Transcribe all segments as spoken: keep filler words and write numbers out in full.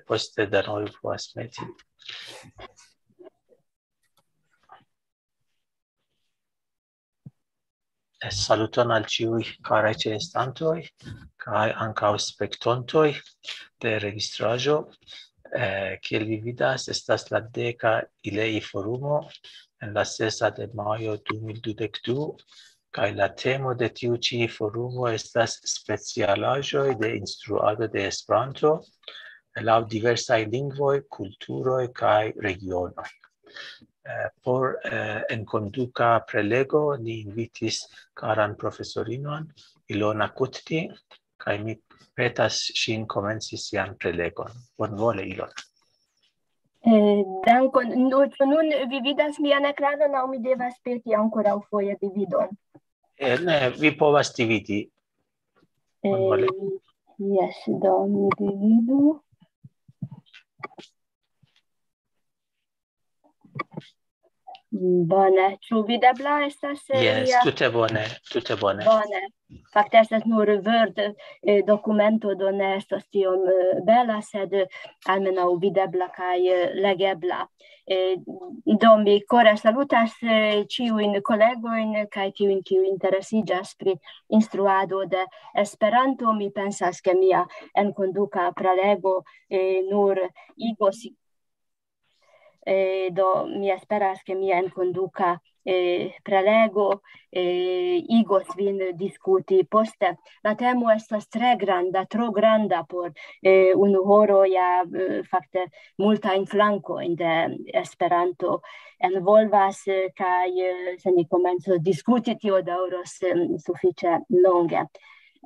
poste denove povas meti. Eh, saluton al ĉiuj karaj ĉeestantoj kaj ankaŭ spektontoj de registraĵo. Eh, kiel vi vidas, estas la deka ILEI forumo en la sesa de majo du mil dudek du, kaj la temo de tiu ĉi forumo estas specialaĵoj de instruado de Esperanto laŭ diversaj lingvoj, kulturoj kaj regionoj. Eh, por, eh, enkonduka prelego ni invitis karan profesorinon Ilona Kutni, kaj mi petas ŝin komenci sian prelegon. Bonvole, Ilona. Eh, dankon. Nu-, ĉu nun vi vidas mian ekranon aŭ mi devas peti ankoraŭ foje dividon? Eh, ne, vi povas dividi. Bonvole. Eh, jes, do mi dividu. Bone, ĉu videbla estas, eh, Jes, mia? Tute bone, tute bone. Bone. Fakte estas nur Word, eh, dokumento, do ne estas tiom, eh, bela, sed, eh, almenaŭ videbla kaj, eh, legebla. Eh, do mi kore salutas, eh, ĉiujn kolegojn kaj tiujn, kiuj interesiĝas pri instruado de Esperanto. Mi pensas, ke mia enkonduka prelego, eh, nur igos, eh, do mi esperas, ke mia enkonduka, eh, prelego, eh, igos vin diskuti poste. La temo estas tre granda, tro granda por, eh, unu horo, ja, eh, fakte multajn flankojn de Esperanto envolvas, eh, kaj, eh, se ni komencos diskuti, tio daŭros, em, sufiĉe longe.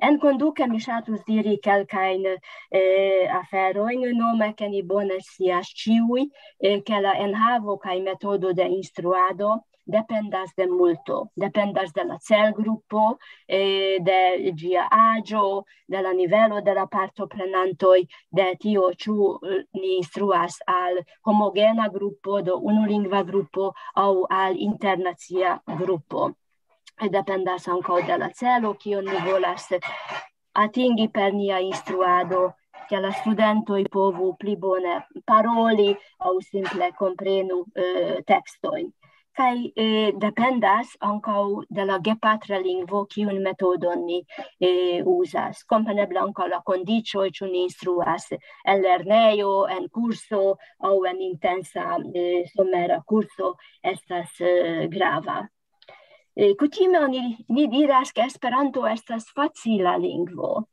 Enkonduke mi ŝatus diri kelkajn, eh, aferojn, nome ke ni bone scias ĉiuj, eh, ke la enhavo kaj metodo de instruado dependas de multo, dependas de la celgrupo, eh, de ĝia aĝo, de la nivelo de la partoprenantoj, de tio, ĉu, eh, ni instruas al homogena grupo, do unulingva grupo, aŭ al internacia grupo. Dependas ankaŭ de la celo, kion ni volas atingi per nia instruado, ke la studentoj povu pli bone paroli aŭ simple komprenu, eh, tekstojn. Kaj, eh, dependas ankaŭ de la gepatra lingvo, kiun metodon ni, eh, uzas. Kompreneble ankaŭ la kondiĉoj, ĉu ni instruas en lernejo, en kurso aŭ en intensa, eh, somera kurso, estas, eh, grava. Eh, kutime oni, ni diras, ke Esperanto estas facila lingvo.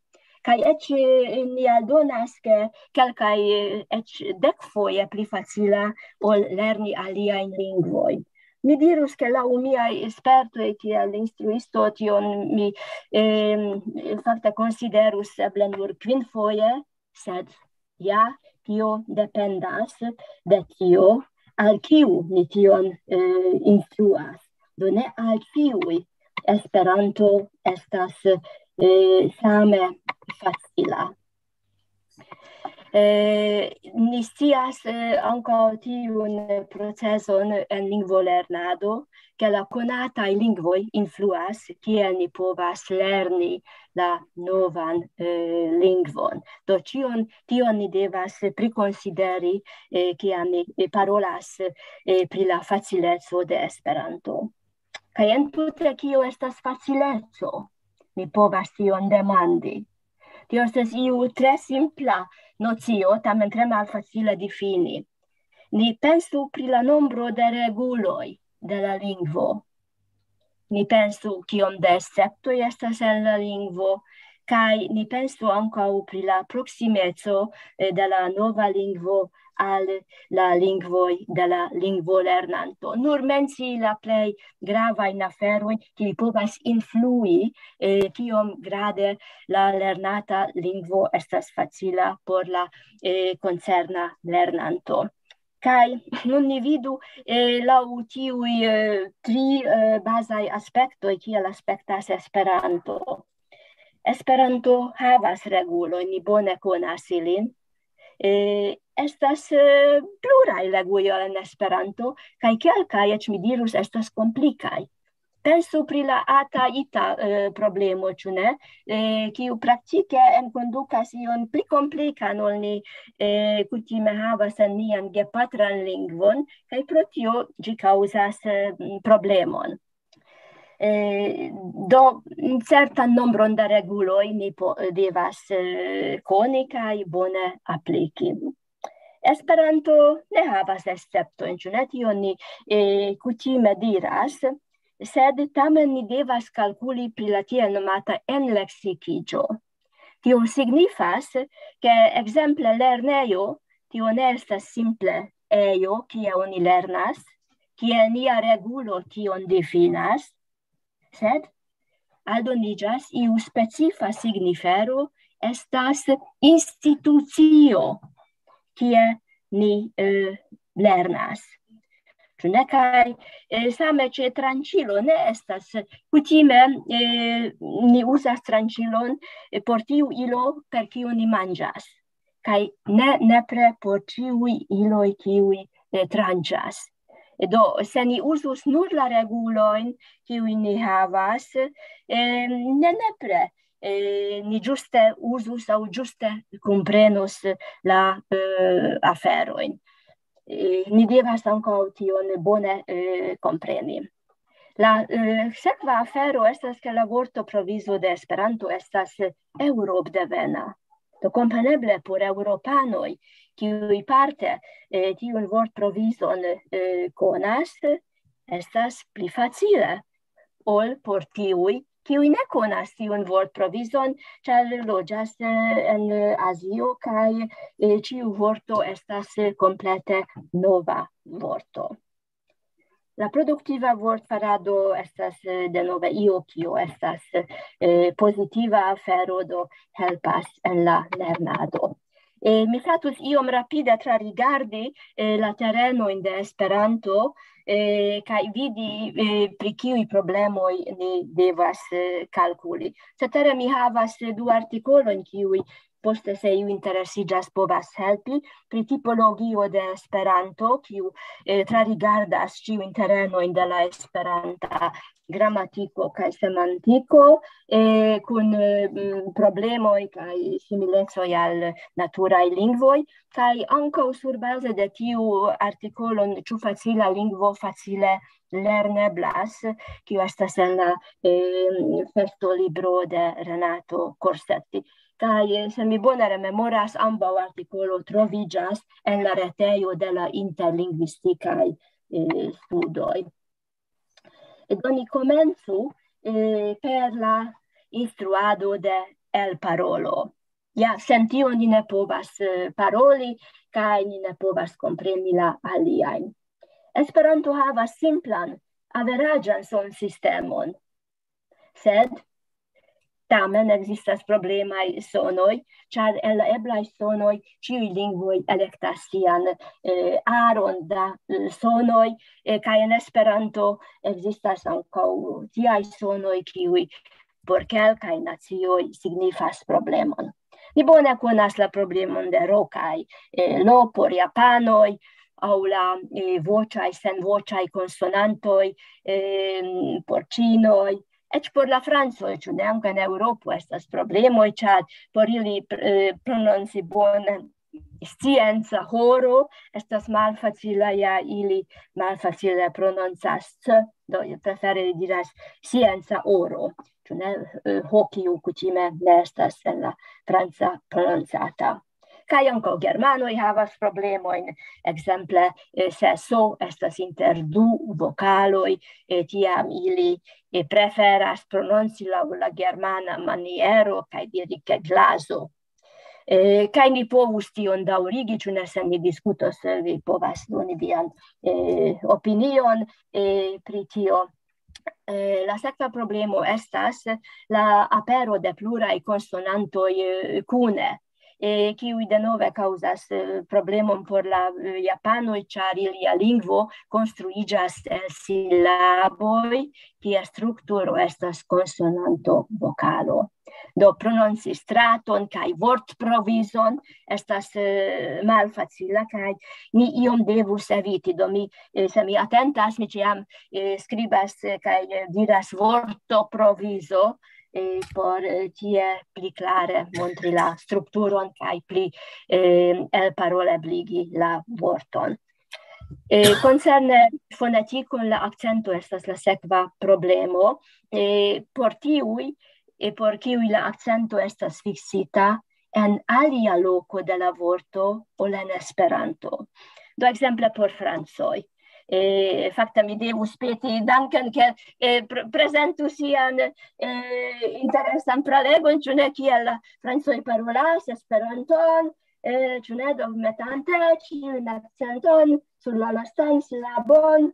Kaj eĉ, eh, ni aldonas, ke kelkaj, eh, eĉ dekfoje pli facila ol lerni aliajn lingvojn. Mi dirus, ke laŭ miaj spertoj kiel instruisto tion mi, em, fakte konsiderus eble nur kvinfoje, sed ja tio dependas de tio, al kiu ni tion, eh, instruas. Do ne al ĉiuj Esperanto estas, eh, same facila. Eh, ni scias, eh, ankaŭ tiun proceson en lingvolernado, ke la konataj lingvoj influas, kiel ni povas lerni la novan, eh, lingvon. Do ĉion, tion ni devas prikonsideri, eh, kiam ni, eh, parolas, eh, pri la facileco de Esperanto. Kaj entute kio estas facileco? Mi povas tion demandi. Tio estas iu tre simpla nocio, tamen tre malfacile difini. Ni pensu pri la nombro de reguloj de la lingvo. Ni pensu, kiom de esceptoj estas en la lingvo, kaj ni pensu ankaŭ pri la proksimeco, eh, de la nova lingvo al la lingvoj de la lingvolernanto. Nur mencii la plej gravajn aferojn, kiuj povas influi, eh, kiom grade la lernata lingvo estas facila por la, eh, koncerna lernanto. Kaj nun ni vidu, eh, laŭ tiuj, eh, tri, eh, bazaj aspektoj, kiel aspektas Esperanto. Esperanto havas regulojn, ni bone konas ilin. Eh, estas, eh, pluraj reguloj en Esperanto, kaj kelkaj, eĉ mi dirus, estas komplikaj. Pensu pri la ata ita eh, problemo, ĉu ne? Eh, kiu praktike enkondukas ion pli komplikan, ol ni eh, kutime havas en nian gepatran lingvon, kaj pro tio ĝi kaŭzas eh, problemon. Eh, do, certan nombron da reguloj ni po, devas eh, koni kaj bone apliki. Esperanto ne havas esceptojn, ĉu ne? Tion ni eh, kutime diras, sed tamen ni devas kalkuli pri la tiel nomata enleksikiĝo. Tio signifas, ke ekzemple lernejo, tio ne estas simple ejo, kie oni lernas, kie nia regulo tion difinas, sed aldoniĝas iu specifa signifero, estas institucio, kie ni eh, lernas. Ĉu ne? Kaj eh, same ĉe tranĉilo ne estas kutime, eh, ni uzas tranĉilon eh, por tiu ilo, per kiu ni manĝas. Kaj ne nepre por ĉiuj iloj, kiuj eh, tranĉas. Do, se ni uzus nur la regulojn, kiujn ni havas, eh, ne nepre eh, ni ĝuste uzus aŭ ĝuste komprenus la eh, aferojn. Eh, ni devas ankaŭ tion bone eh, kompreni. La eh, sekva afero estas, ke la vorto provizo de Esperanto estas eh, eŭropdevena. Do kompreneble por eŭropanoj, kiuj parte eh, tiun vortprovizon eh, konas, estas pli facile ol por tiuj, kiuj ne konas tiun vortprovizon, ĉar loĝas eh, en Azio kaj eh, ĉiu vorto estas eh, komplete nova vorto. La produktiva vortfarado estas eh, denove io, kio estas eh, pozitiva afero, do helpas en la lernado. Eh, mi ŝatus iom rapide trarigardi eh, la terenojn de Esperanto eh, kaj vidi eh, pri kiuj problemoj ni devas eh, kalkuli. Cetere mi havas eh, du artikolojn, kiuj poste, se iu interesiĝas, povas helpi pri tipologio de Esperanto, kiu eh, trarigardas ĉiujn terenojn de la esperanta gramatiko kaj semantiko, eh, kun eh, problemoj kaj similecoj al naturaj lingvoj, kaj ankaŭ surbaze de tiu artikolon, ĉu facila lingvo facile lerneblas, kiu estas en la eh, festo libro de Renato Corsetti. Kaj eh, se mi bone rememoras, ambaŭ artikolo troviĝas en la retejo de la interlingvistikaj eh, studoj. Do ni komencu eh, per la instruado de elparolo. Ja, sen tio ni ne povas eh, paroli, kaj ni ne povas kompreni la aliajn. Esperanto havas simplan, averaĝan sonsistemon. Sed tamen ekzistas problemaj sonoj, ĉar el eblaj sonoj ĉiuj lingvoj elektas sian eh, aron da eh, sonoj, eh, kaj en Esperanto ekzistas ankaŭ tiaj sonoj, kiuj por kelkaj nacioj signifas problemon. Ni bone konas la problemon de ro kaj eh, lo por japanoj, aŭ la eh, voĉaj, senvoĉaj konsonantoj eh, por ĉinoj, eĉ por la francoj, ĉu ne? Ankaŭ en Eŭropo estas problemoj, ĉar por ili eh, prononci bone scienca horo estas malfacila, ja ili malfacile prononcas c, do prefere li diras scienca oro, ĉu ne? Eh, ho, kiu kutime ne estas en la franca prononcata. Kaj ankaŭ germanoj havas problemojn, ekzemple, eh, se so estas inter du vokaloj, eh, tiam ili eh, preferas prononci laŭ la germana maniero kaj diri ke glazo. Eh, kaj ni povus tion daŭrigi, ĉu ne, se ni diskutos, eh, vi povas doni vian eh, opinion eh, pri tio. Eh, la sekva problemo estas la apero de pluraj konsonantoj eh, kune, eh, kiuj denove kaŭzas eh, problemon por la eh, japanoj, ĉar ilia lingvo konstruiĝas el silaboj, kies strukturo estas konsonanto-vokalo. Do prononci straton kaj vortprovizon estas eh, malfacila, kaj ni iom devus eviti. Do mi, eh, se mi atentas, mi ĉiam eh, skribas eh, kaj eh, diras vortoprovizo, eh, por eh, tie pli klare montri la strukturon kaj pli eh, elparolebligi la vorton. Eh, koncerne fonetikon, la akcento estas la sekva problemo. Eh, por tiuj, eh, por kiuj la akcento estas fiksita en alia loko de la vorto ol en Esperanto. Do ekzemple por francoj. Eh, fakte mi devus peti Duncan, ke eh, pr prezentu sian eh, interesan pralegon, ĉu ne, kiel la francoj parolas Esperanton, eh, ĉu ne, do metante ĉiun akcenton sur la lastan silabon.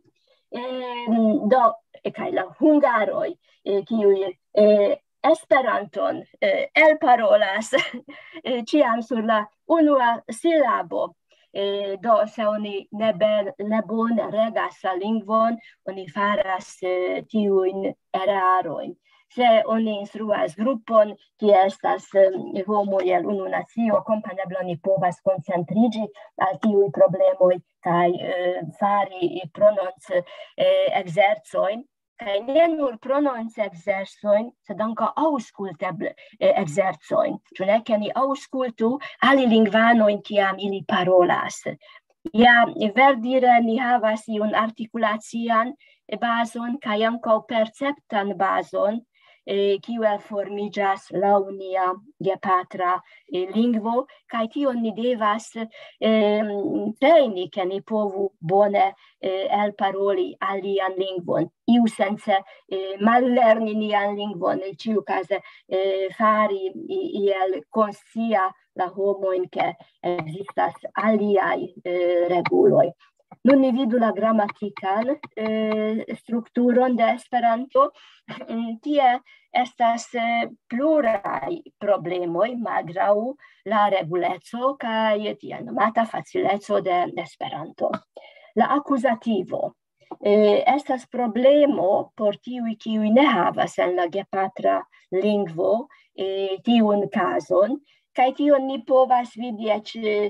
Eh, do, eh, kaj la hungaroj, eh, kiuj eh, Esperanton eh, elparolas eh, ĉiam sur la unua silabo. Eh, do, se oni ne, ben, ne bone regas la lingvon, oni faras eh, tiujn erarojn. Se oni instruas grupon, kie estas eh, homoj el unu nacio, kompreneble oni povas koncentriĝi al tiuj problemoj kaj eh, fari prononc eh, ekzercojn, kaj ne nur prononc ekzercojn, sed ankaŭ aŭskultebl eh, ekzercojn. Ĉu ne, ke ni aŭskultu alilingvanojn, kiam ili parolas? Ja, verdire ni havas iun artikulacian bazon kaj ankaŭ perceptan bazon, eh, kiu formiĝas laŭ nia gepatra eh, lingvo, kaj tion ni devas eh, trejni, ke ni povu bone eh, elparoli alian lingvon, iusence eh, mallerni nian lingvon, ĉiukaze eh, fari i- iel konscia la homojn, ke ekzistas aliaj eh, reguloj. Nun ni vidu la gramatikan eh, strukturon de Esperanto. Mm, Tie estas eh, pluraj problemoj, malgraŭ la reguleco kaj tiel nomata facileco de Esperanto. La akuzativo eh, estas problemo por tiuj, kiuj ne havas en la gepatra lingvo eh, tiun kazon, kaj tion ni povas vidi eĉ eh,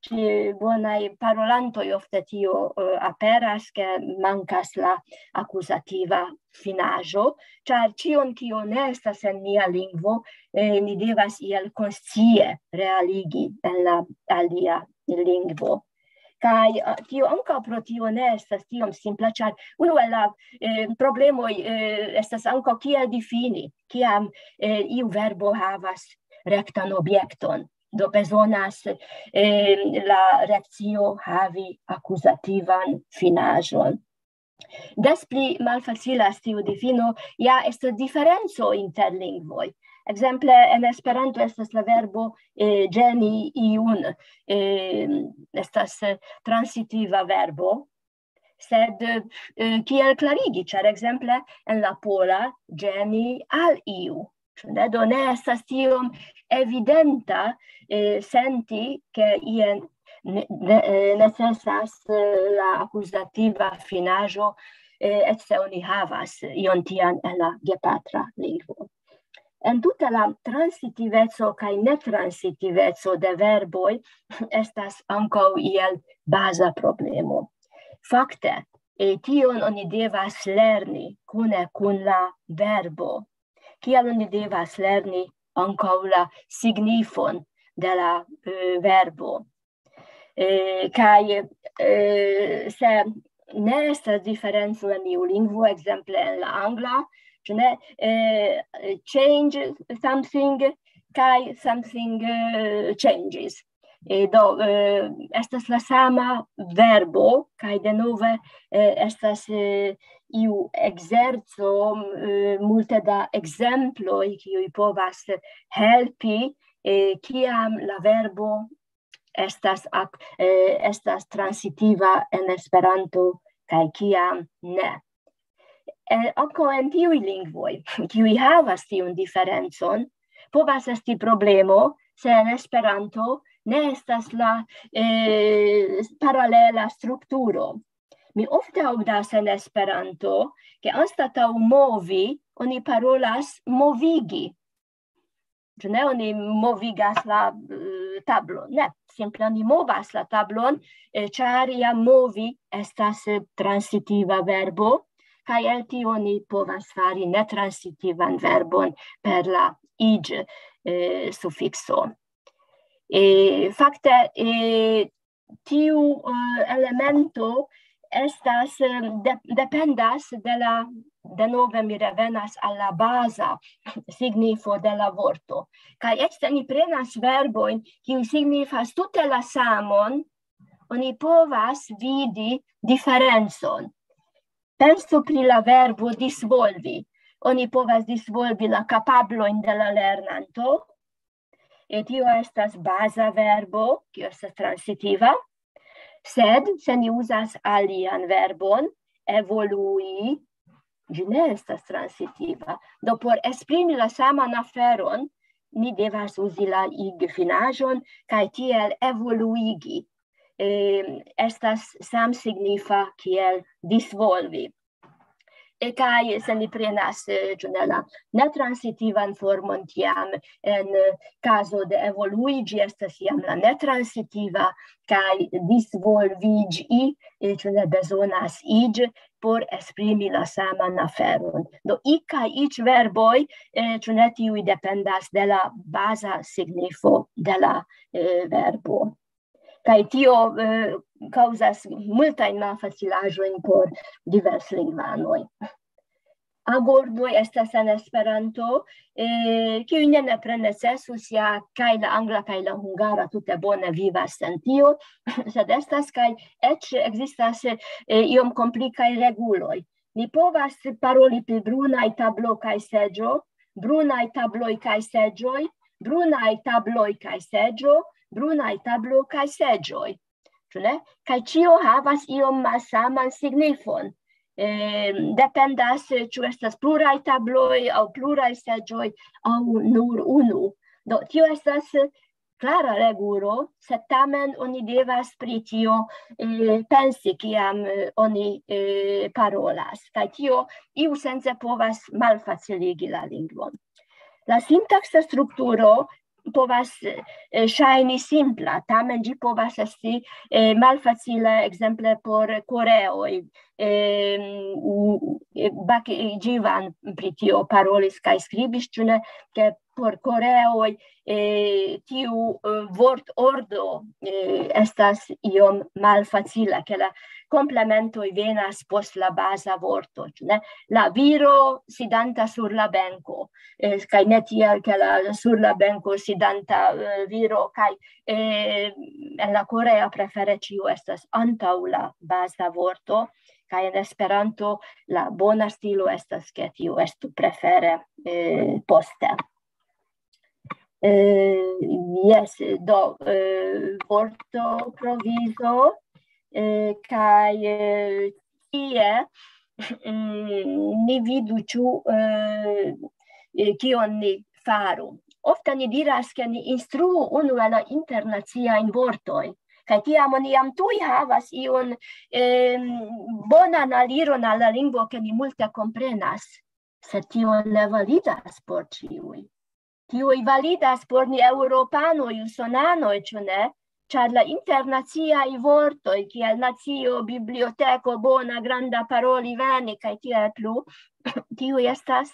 ĉe bonaj parolantoj. Ofte tio eh, aperas, ke mankas la akuzativa finaĵo, ĉar ĉion, kio ne estas en nia lingvo, eh, ni devas iel konscie realigi en la alia lingvo. Kaj eh, tio ankaŭ pro tio ne estas tiom simpla, ĉar unu el la eh, problemoj eh, estas ankaŭ kiel difini, kiam eh, iu verbo havas rektan objekton. Do bezonas eh, la reakcio havi akuzativan finaĵon. Des pli malfacilas tiu difino, ja estas diferenco inter lingvoj. Ekzemple, en Esperanto estas la verbo eh, ĝeni iun, eh, estas eh, transitiva verbo, sed eh, kiel klarigi, ĉar ekzemple en la pola ĝeni al iu. Ĉu ne? Do ne estas tiom evidenta eh, senti, ke ien ne, ne, eh, necesas eh, la akuzativa finaĵo, eh, eĉ se oni havas ion tian en la gepatra lingvo. En tuta la transitiveco kaj netransitiveco de verboj estas ankaŭ iel baza problemo. Fakte, eh, tion oni devas lerni kune kun la verbo. Kial oni devas lerni ankaŭ la signifon de la eh, verbo? Eh, kaj eh, se ne estas diferenco en iu lingvo, ekzemple en la angla, ĉu ne, eh, change something kaj something eh, changes. Eh, do, eh, estas la sama verbo, kaj denove eh, estas eh, iu ekzerco, eh, multe da ekzemploj, kiuj povas helpi, eh, kiam la verbo estas, ak, eh, estas transitiva en Esperanto, kaj kiam ne. Eh, ankaŭ en tiuj lingvoj, kiuj havas tiun diferencon, povas esti problemo, se en Esperanto ne estas la eh, paralela strukturo. Mi ofte aŭdas en Esperanto, ke anstataŭ movi, oni parolas movigi. Ĉu ne? Oni movigas la, eh, tablon. Ne, simple oni movas la tablon, eh, ĉar jam movi estas, eh, transitiva verbo, kaj el tio oni povas fari netransitivan verbon per la iĝ, eh, sufikso. Eh, fakte, eh, tiu, eh, elemento estas, eh, de-, dependas de la, denove mi revenas al la baza signifo de la vorto. Kaj eĉ se ni prenas verbojn, kiuj signifas tute la samon, oni povas vidi diferencon. Pensu pri la verbo disvolvi. Oni povas disvolvi la kapablojn de la lernanto. E tio estas baza verbo, kiu estas transitiva. Sed se ni uzas alian verbon, evolui, ĝi ne estas transitiva. Do por esprimi la saman aferon, ni devas uzi la ig finaĵon kaj tiel evoluigi. Eh, estas samsignifa kiel disvolvi. E kaj se ni prenas, eh, ĉu ne, la netransitivan formon, tiam en, eh, kazo de evolui ĝi estas jam la netransitiva, kaj disvolviĝi, eh, ĉu ne, bezonas iĝ por esprimi la saman aferon. Do i kaj ič verboj, eh, ĉu ne, tiuj dependas de la baza signifo de la, eh, verbo. Kaj tio, eh, kaŭzas multajn malfacilaĵojn por diverslingvanoj. Agordoj estas en Esperanto, eh, kiuj ne nepre necesus, ja kaj la angla kaj la hungara tute bone vivas sen tio, sed estas kaj eĉ ekzistas, eh, iom komplikaj reguloj. Ni povas paroli pri brunaj tablo kaj seĝo, brunaj tabloj kaj seĝoj, brunaj tabloj kaj seĝo, brunaj tablo kaj seĝoj. Ĉu ne? Kaj ĉio havas iom malsaman signifon. Eh, dependas, eh, ĉu estas pluraj tabloj aŭ pluraj seĝoj aŭ nur unu. Do, tio estas, eh, klara regulo, sed tamen oni devas pri tio, eh, pensi, kiam, eh, oni, eh, parolas. Kaj tio iusence povas malfaciligi la lingvon. La sintaksa strukturo povas, eh, ŝajni simpla, tamen ĝi povas esti, eh, malfacila, ekzemple por koreoj. Eh, mm, eh, Bak-, eh, Ĝivan pri tio parolis kaj skribis, ĉu ne, ke por koreoj, eh, tiu, eh, vortordo, eh, estas iom malfacila, ke la komplementoj venas post la baza vorto, ĉu ne? La viro sidanta sur la benko, eh, kaj ne tiel, ke la, sur la benko sidanta, eh, viro, kaj, eh, en la korea prefere ĉio estas antaŭ la baza vorto, kaj en Esperanto la bona stilo estas, ke tio estu prefere, eh, poste. Eh, jes, do, eh, vorto provizo, eh, kaj, eh, tie, mm, ni vidu, ĉu, eh, eh, kion ni faru. Ofte ni diras, ke ni instruu unue la internaciajn vortojn, kaj tiam oni jam tuj havas iun, em, bonan aliron al la lingvo, ke ni multe komprenas. Sed tio ne validas por ĉiuj. Tiuj validas por ni eŭropanoj, usonanoj, ĉu ne? Ĉar la internaciaj vortoj, kiel nacio, biblioteko, bona, granda, paroli, veni, kaj tiel plu, tiuj estas,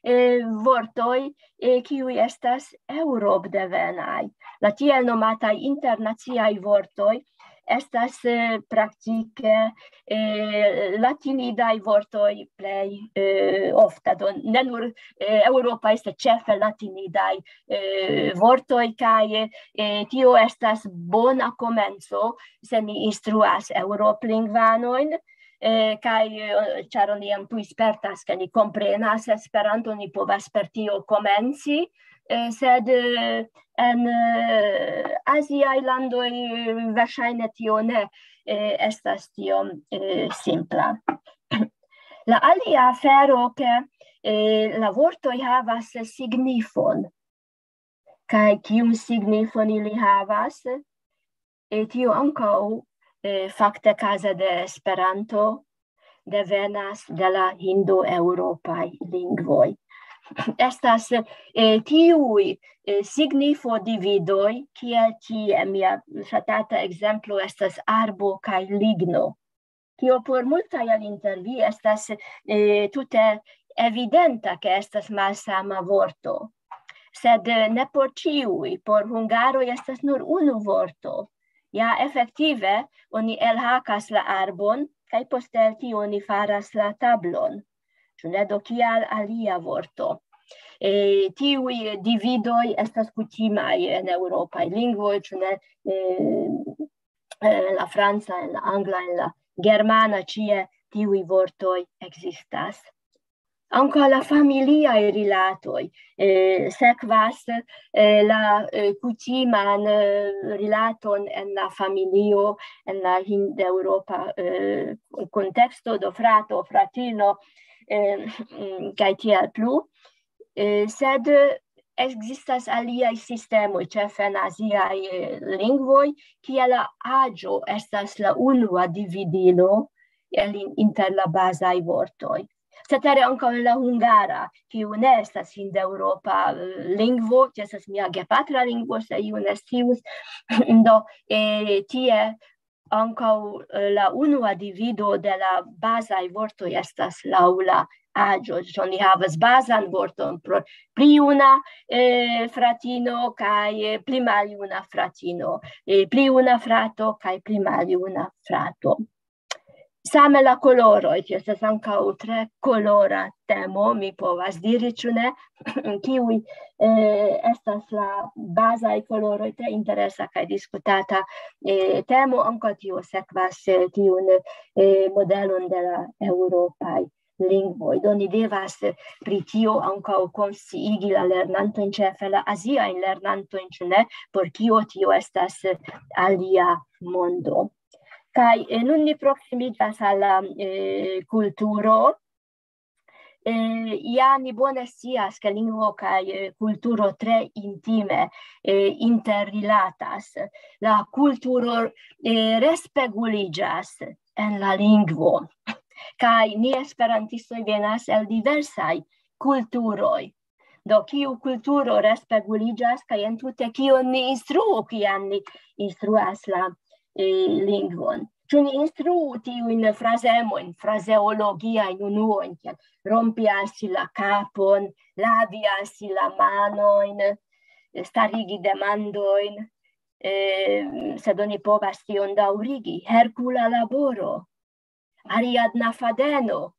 eh, vortoj, eh, kiuj estas eŭropdevenaj. La tiel nomataj internaciaj vortoj estas, eh, praktike, eh, latinidaj vortoj plej, eh, ofta. Do, ne nur, eh, eŭropaj, sed ĉefe latinidaj, eh, vortoj, kaj, eh, tio estas bona komenco, se ni instruas eŭroplingvanojn, eh, kaj, eh, ĉar oni jam tuj spertas, ke ni komprenas Esperanto, ni povas per tio komenci, eh, sed, eh, en, eh, aziaj landoj, eh, verŝajne tio ne, eh, estas tiom, eh, simpla. La alia afero, ke, eh, la vortoj havas signifon. Kaj kiun signifon ili havas? E tio ankaŭ, eh, fakte kaze de Esperanto devenas de la hindoeŭropaj lingvoj. estas eh, tiuj eh, signifo dividoj, kiel tie mia ŝatata ekzemplo estas arbo kaj ligno. Tio por multaj el inter vi estas eh, tute evidenta, ke estas malsama vorto. Sed eh, ne por ĉiuj, por hungaroj estas nur unu vorto. Ja efektive oni elhakas la arbon, kaj poste el tio oni faras la tablon. Ĉu ne do kial alia vorto? E, tiuj dividoj estas kutimaj en eŭropaj lingvoj, ĉu ne eh, eh, la franca, en la angla, en la germana, ĉie tiuj vortoj ekzistas. Ankaŭ la familiaj rilatoj eh, sekvas eh, la eh, kutiman eh, rilaton en la familio, en la hindeŭropa eh, konteksto, do frato, fratino, eh, mm, kaj tiel plu. Eh, sed ekzistas aliaj sistemoj, ĉefe en aziaj eh, lingvoj, kie la aĝo estas la unua dividilo el in-, inter la bazaj vortoj. Cetere ankaŭ en la hungara, kiu ne estas hindeŭropa eh, lingvo, ĝi estas mia gepatra lingvo, se iu ne scius. Do, eh, tie ankaŭ eh, la unua divido de la bazaj vortoj estas laŭ la aĝo. Ĉu oni havas bazan vorton por pli juna eh, fratino kaj eh, pli maljuna fratino, eh, pli juna frato kaj pli maljuna frato. Same la koloroj, tio estas ankaŭ tre kolora temo, mi povas diri, ĉu ne, kiuj eh, estas la bazaj koloroj, tre interesa kaj diskutata eh, temo, ankaŭ tio sekvas eh, tiun eh, modelon de la eŭropaj lingvoj. Do ni devas eh, pri tio ankaŭ konsciigi la lernantojn, ĉefe la aziajn lernantojn, ĉu ne, por kio tio estas eh, alia mondo. Kaj eh, nun ni proksimiĝas al la eh, kulturo. Eh, ja ni bone scias, ke lingvo kaj eh, kulturo tre intime eh, interrilatas. La kulturo eh, respeguliĝas en la lingvo. Kaj ni esperantistoj venas el diversaj kulturoj. Do, kiu kulturo respeguliĝas, kaj entute kion ni instruu, kiam ni instruas la eh, lingvon? Ĉu ni instruu tiujn frazemojn, frazeologiajn unuojn, kiel rompi al si la kapon, lavi al si la manojn, starigi demandojn, eh, sed oni povas tion daŭrigi. Herkula laboro, Ariadna fadeno,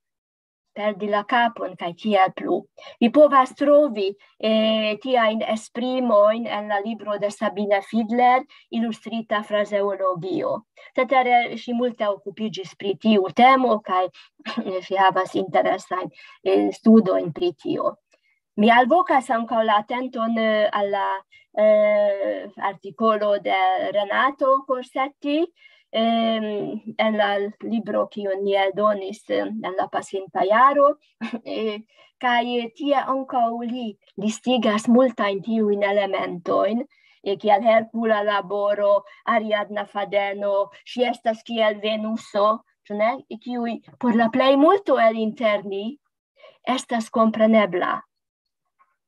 perdi la kapon kaj tiel plu. Vi povas trovi eh, tiajn esprimojn en la libro de Sabine Fidler, Ilustrita frazeologio. Cetere ŝi multe okupiĝis pri tiu temo kaj ŝi havas interesajn eh, studojn pri tio. Mi alvokas ankaŭ la atenton eh, al la eh, artikolo de Renato Corsetti ehm, en la libro, kiun ni eldonis eh, en la pasinta jaro. Eh, kaj tie ankaŭ li listigas multajn tiujn elementojn, eh, kiel Herkula laboro, Ariadna fadeno, ŝi estas kiel Venuso, ĉu ne? Kiuj por la plejmulto el inter ni estas komprenebla.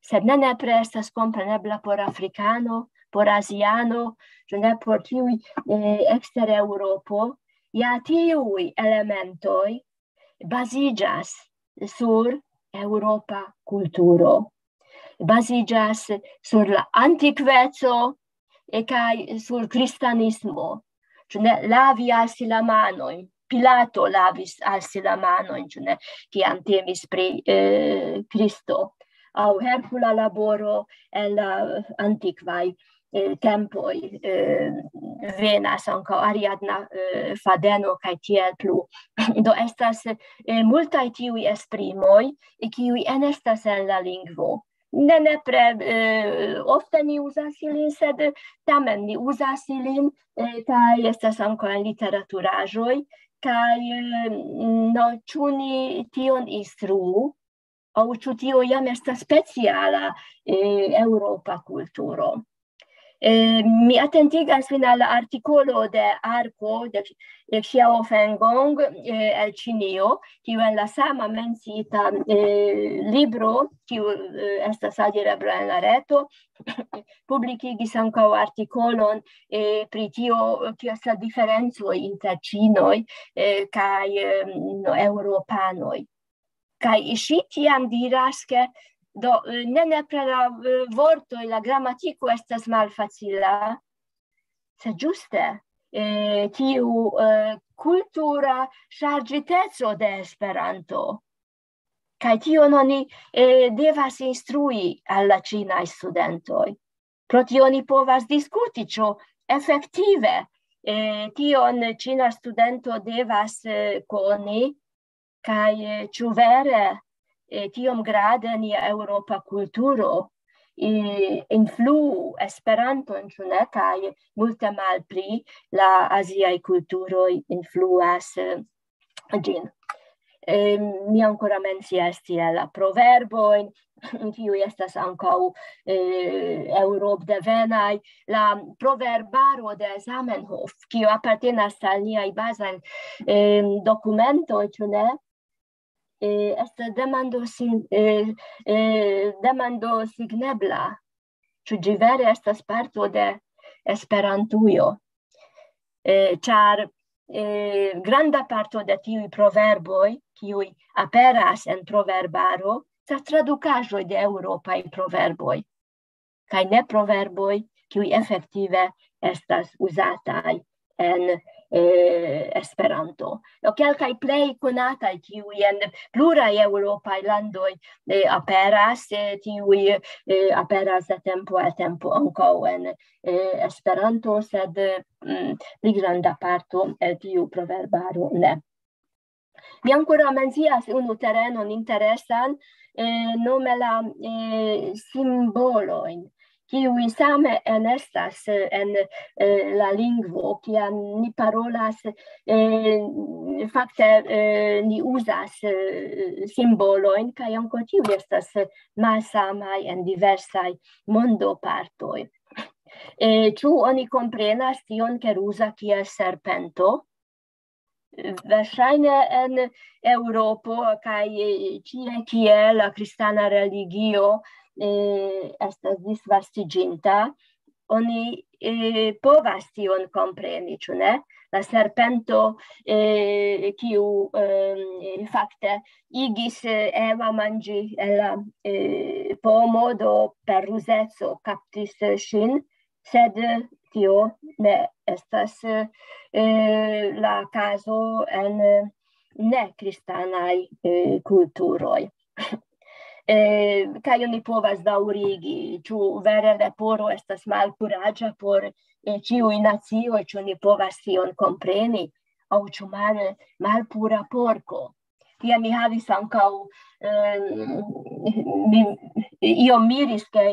Sed ne nepre estas komprenebla por afrikano, por aziano, ĉu ne, por tiuj eh, ekster Eŭropo. Ja tiuj elementoj baziĝas sur eŭropa kulturo. Baziĝas sur la antikveco eh, kaj sur kristanismo. Ĉu ne, lavi al si la manojn. Pilato lavis al si la manojn, ĉu ne, kiam temis pri eh, Kristo. Aŭ Herkula laboro en la antikvaj eh, tempoj eh, venas ankaŭ Ariadna eh, fadeno kaj tiel plu. Do estas eh, multaj tiuj esprimoj, kiuj enestas en la lingvo. Ne nepre eh, ofte ni uzas ilin, sed tamen ni uzas ilin, eh, kaj estas ankaŭ en literaturaĵoj, kaj eh, no, ĉu ni tion instruu, aŭ ĉu tio jam estas speciala eh, eŭropa kulturo. Eh, mi atentigas vin al la artikolo de Arko, de, de Xiao Fengong, eh, el Ĉinio, kiu en la sama menciita, eh, libro, kiu, eh, estas alirebla en la reto, publikigis ankaŭ artikolon, eh, pri tio, kiu estas la diferencoj inter ĉinoj, eh, kaj, eh, no, eŭropanoj. Kaj ŝi tiam diras, ke do, eh, ne nepre la, eh, vortoj, la gramatiko estas malfacila, sed ĝuste, eh, tiu, eh, kultura ŝarĝiteco de Esperanto. Kaj tion oni, eh, devas instrui al la ĉinaj studentoj. Pro tio oni povas diskuti, ĉu efektive, eh, tion ĉina studento devas, eh, koni, kaj, eh, ĉu vere, eh, tiom grade nia eŭropa kulturo, eh, influu Esperanton, ĉu ne, kaj multe malpli la aziaj kulturoj influas, eh, ĝin. Eh, mi ankoraŭ mencias tie la proverbojn, kiuj estas ankaŭ, eh, eŭropdevenaj, la proverbaro de Zamenhof, kiu apartenas al niaj bazaj, eh, dokumentoj, ĉu ne? Eh, estas demando sin-, eh, eh, demando signebla, ĉu ĝi vere estas parto de Esperantujo. Eh, ĉar, eh, granda parto de tiuj proverboj, kiuj aperas en proverbaro, estas tradukaĵoj de eŭropaj proverboj, kaj ne proverboj, kiuj efektive estas uzataj en, eh, Esperanto. Do kelkaj plej konataj, kiuj en pluraj eŭropaj landoj, eh, aperas, eh, tiuj, eh, aperas de tempo al tempo ankaŭ en, eh, Esperanto, sed, mm, pli granda parto el tiu proverbaro ne. Mi ankoraŭ mencias unu terenon interesan, eh, nome la, eh, simbolojn, kiuj same enestas, eh, en, eh, la lingvo, kiam ni parolas, eh, fakte, eh, ni uzas, eh, simbolojn, kaj ankaŭ tiuj estas, eh, malsamaj en diversaj mondopartoj. Eh, ĉu oni komprenas tion, ke ruza kiel serpento? Verŝajne en Eŭropo kaj, eh, ĉie, kie la kristana religio, eh, estas disvastiĝinta, oni, eh, povas tion kompreni, ĉu ne? La serpento, eh, kiu, eh, fakte igis, eh, Eva manĝi el la, eh, pomo, do per ruzeco kaptis, eh, ŝin, sed tio ne estas, eh, la kazo en, eh, nekristanaj, eh, kulturoj. Eh, kaj oni povas daŭrigi, ĉu vere leporo estas malkuraĝa por, eh, ĉiuj nacioj, ĉu ni povas tion kompreni, aŭ ĉu mal-, malpura porko. Tiam mi havis ankaŭ, eh, mi iom miris, ke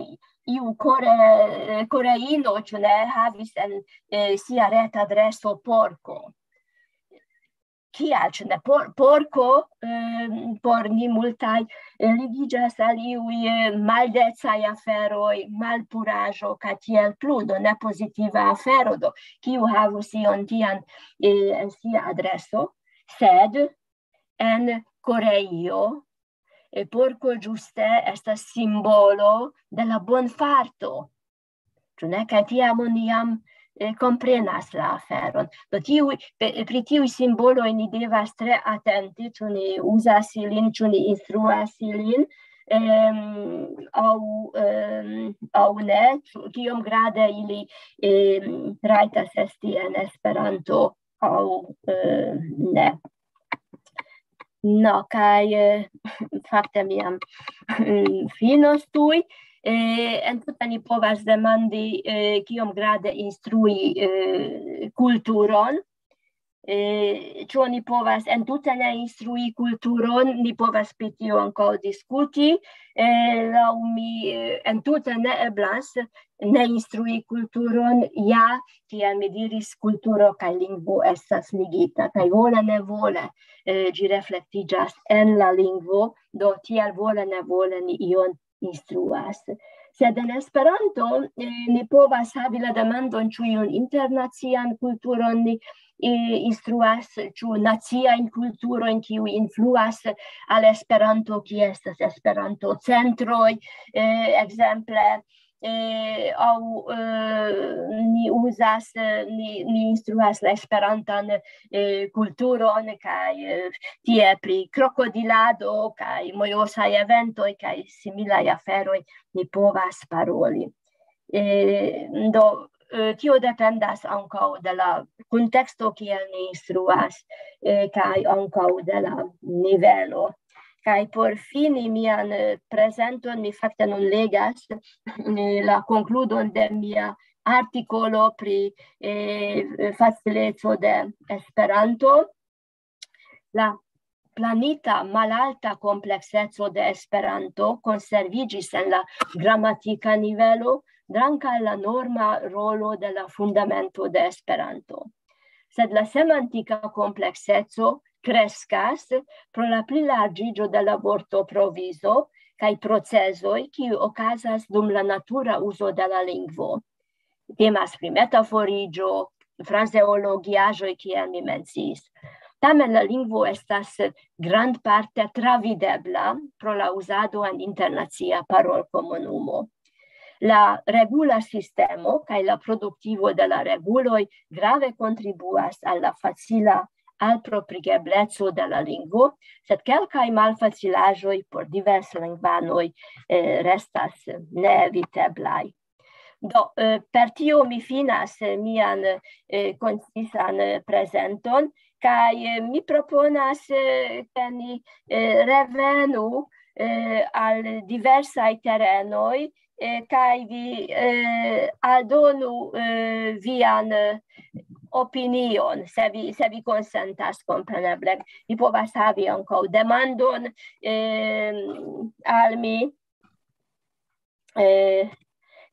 iu kore-, koreino, ĉu ne, havis en, eh, sia retadreso porko. Kial, ĉu ne? Por-, porko, eh, por ni multaj, eh, ligiĝas al iuj, eh, maldecaj aferoj, malpuraĵo, kaj tiel plu, do ne pozitiva afero, do kiu havus ion tian, eh, en sia adreso, sed en Koreio, eh, porko ĝuste estas simbolo de la bonfarto. Ĉu ne? Kaj tiam oni jam, eh, komprenas la aferon. Do tiuj, pe-, pri tiuj simboloj ni devas tre atenti, ĉu ni uzas ilin, ĉu ni instruas ilin, em, aŭ, em, aŭ ne, ĉu, kiom grade ili, em, rajtas esti en Esperanto aŭ, eh, ne. No, kaj, eh, fakte mi jam, mm, finos tuj. Eh, entute ni povas demandi, eh, kiom grade instrui, eh, kulturon. Eh, ĉu oni povas entute ne instrui kulturon? Ni povas pri tio ankaŭ diskuti. Eh, laŭ mi, eh, entute ne eblas ne instrui kulturon, ja, kiel mi diris, kulturo kaj lingvo estas ligita, kaj vole ne vole, eh, ĝi reflektiĝas en la lingvo, do tiel vole ne vole ni ion instruas. Sed en Esperanto, eh, ni povas havi la demandon, ĉu iun internacian kulturon ni, eh, instruas, ĉu naciajn kulturojn, kiuj influas al Esperanto, kie estas Esperanto-centroj, eh, ekzemple, eh, aŭ, eh, ni uzas, eh, ni, ni instruas la esperantan, eh, kulturon, kaj, eh, tie pri krokodilado, kaj mojosaj eventoj, kaj similaj aferoj ni povas paroli. Eh, do, eh, tio dependas ankaŭ de la kunteksto, kiel ni instruas, eh, kaj ankaŭ de la nivelo. Kaj por fini mian, eh, prezenton, mi fakte nun legas, eh, la konkludon de mia artikolo pri, eh, facileco de Esperanto. La planita malalta komplekseco de Esperanto konserviĝis en la gramatika nivelo, dank' al la norma rolo de la fundamento de Esperanto. Sed la semantika komplekseco kreskas pro la plilarĝiĝo de la vortoprovizo kaj procezoj, kiuj okazas dum la natura uzo de la lingvo. Temas pri metaforiĝo, frazeologiaĵoj, kiel mi menciis. Tamen la lingvo estas grandparte travidebla pro la uzado en internacia parolkomunumo. La regula sistemo kaj la produktivo de la reguloj grave kontribuas al la facila alproprigebleco de la lingvo, sed kelkaj malfacilaĵoj por diverslingvanoj, eh, restas neeviteblaj. Do, eh, per tio mi finas, eh, mian, eh, koncisan, eh, prezenton, kaj, eh, mi proponas, eh, ke ni, eh, revenu, eh, al diversaj terenoj, eh, kaj vi, eh, aldonu, eh, vian, eh, opinion, se vi, se vi konsentas, kompreneble. Vi povas havi ankaŭ demandon, eh, al mi, eh,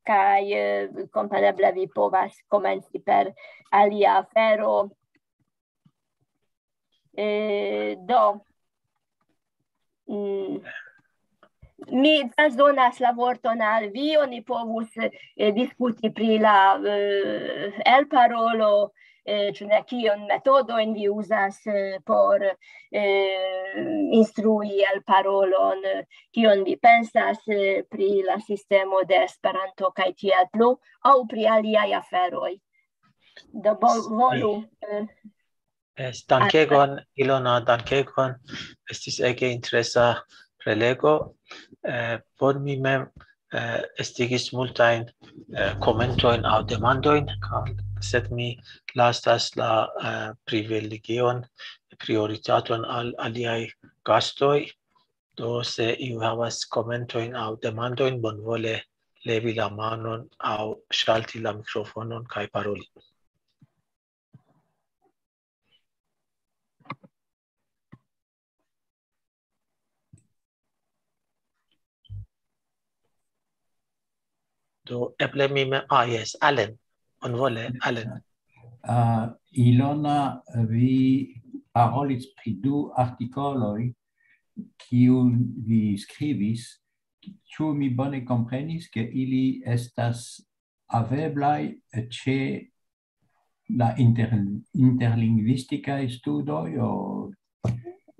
kaj, eh, kompreneble vi povas komenci per alia afero. Eh, do, mm, mi transdonas la vorton al vi, oni povus, eh, diskuti pri la, eh, elparolo, eh, ĉu ne, kion metodojn vi uzas, eh, por, eh, instrui elparolon, eh, kion vi pensas, eh, pri la sistemo de Esperanto kaj tiel plu, aŭ pri aliaj aferoj. Do, bo-, volu, eh, Es, dankegon, Ilona, dankegon. Estis ege interesa prelego. Eh, por mi mem, eh, estigis multajn, eh, komentojn aŭ demandojn, ka-, sed mi lasas la, eh, privilegion, prioritaton al aliaj gastoj. Do, se iu havas komentojn aŭ demandojn, bonvole levi la manon aŭ ŝalti la mikrofonon kaj paroli. Do, eble mi mem, ah, jes, Allen, bonvole, Allen. Ah, Ilona, vi parolis pri du artikoloj, kiun vi skribis. Ĉu mi bone komprenis, ke ili estas haveblaj ĉe la inter-, interlingvistikaj studoj, o...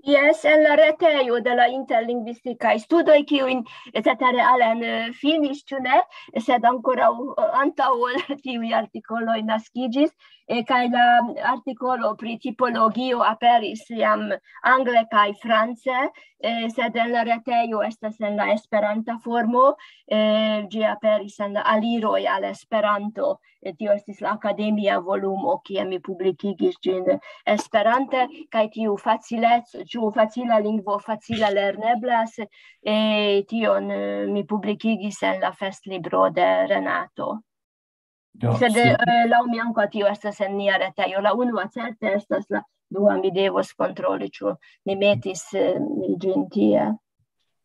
Jes, en la retejo de la interlingvistikaj studoj, kiujn cetere Allen, eh, finis, ĉu ne? Sed ankoraŭ, eh, antaŭ ol tiuj artikoloj naskiĝis, eh, kaj la artikolo pri tipologio aperis jam angle kaj france, eh, sed en la retejo estas en la esperanta formo, eh, ĝi aperis en la Aliroj al Esperanto. Eh, tio estis la akademia volumo, kie mi publikigis ĝin esperante, kaj tiu facilec-, ĉu facila lingvo facila lerneblas, eh, tion, eh, mi publikigis en la festlibro de Renato. Do, sed, su- eh, laŭ mi ankaŭ tio estas en nia retejo. La unua certe estas, la dua mi devos kontroli, ĉu mi metis, eh, ĝin tie.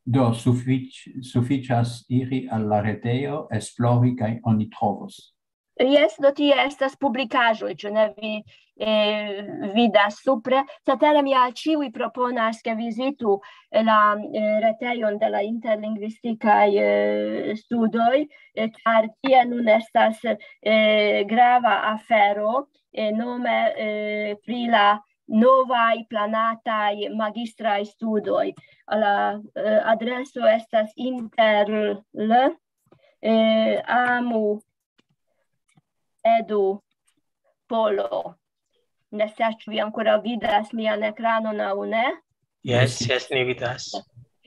Do, sufiĉ-, sufiĉas iri al la retejo, esplori kaj oni trovos. Jes, do tie estas publikaĵoj, ĉu ne, vi eh, vidas supre. Cetere mi al ĉiuj proponas, ke vizitu la eh, retejon de la interlingvistikaj eh, studoj, eh, ĉar tie nun estas eh, grava afero, eh, nome eh, pri la novaj planataj magistraj studoj. La eh, adreso estas inter l eh, amu edu polo. Ne scias, ĉu vi ankoraŭ vidas mian ekranon aŭ ne. Jes, jes, ni vidas.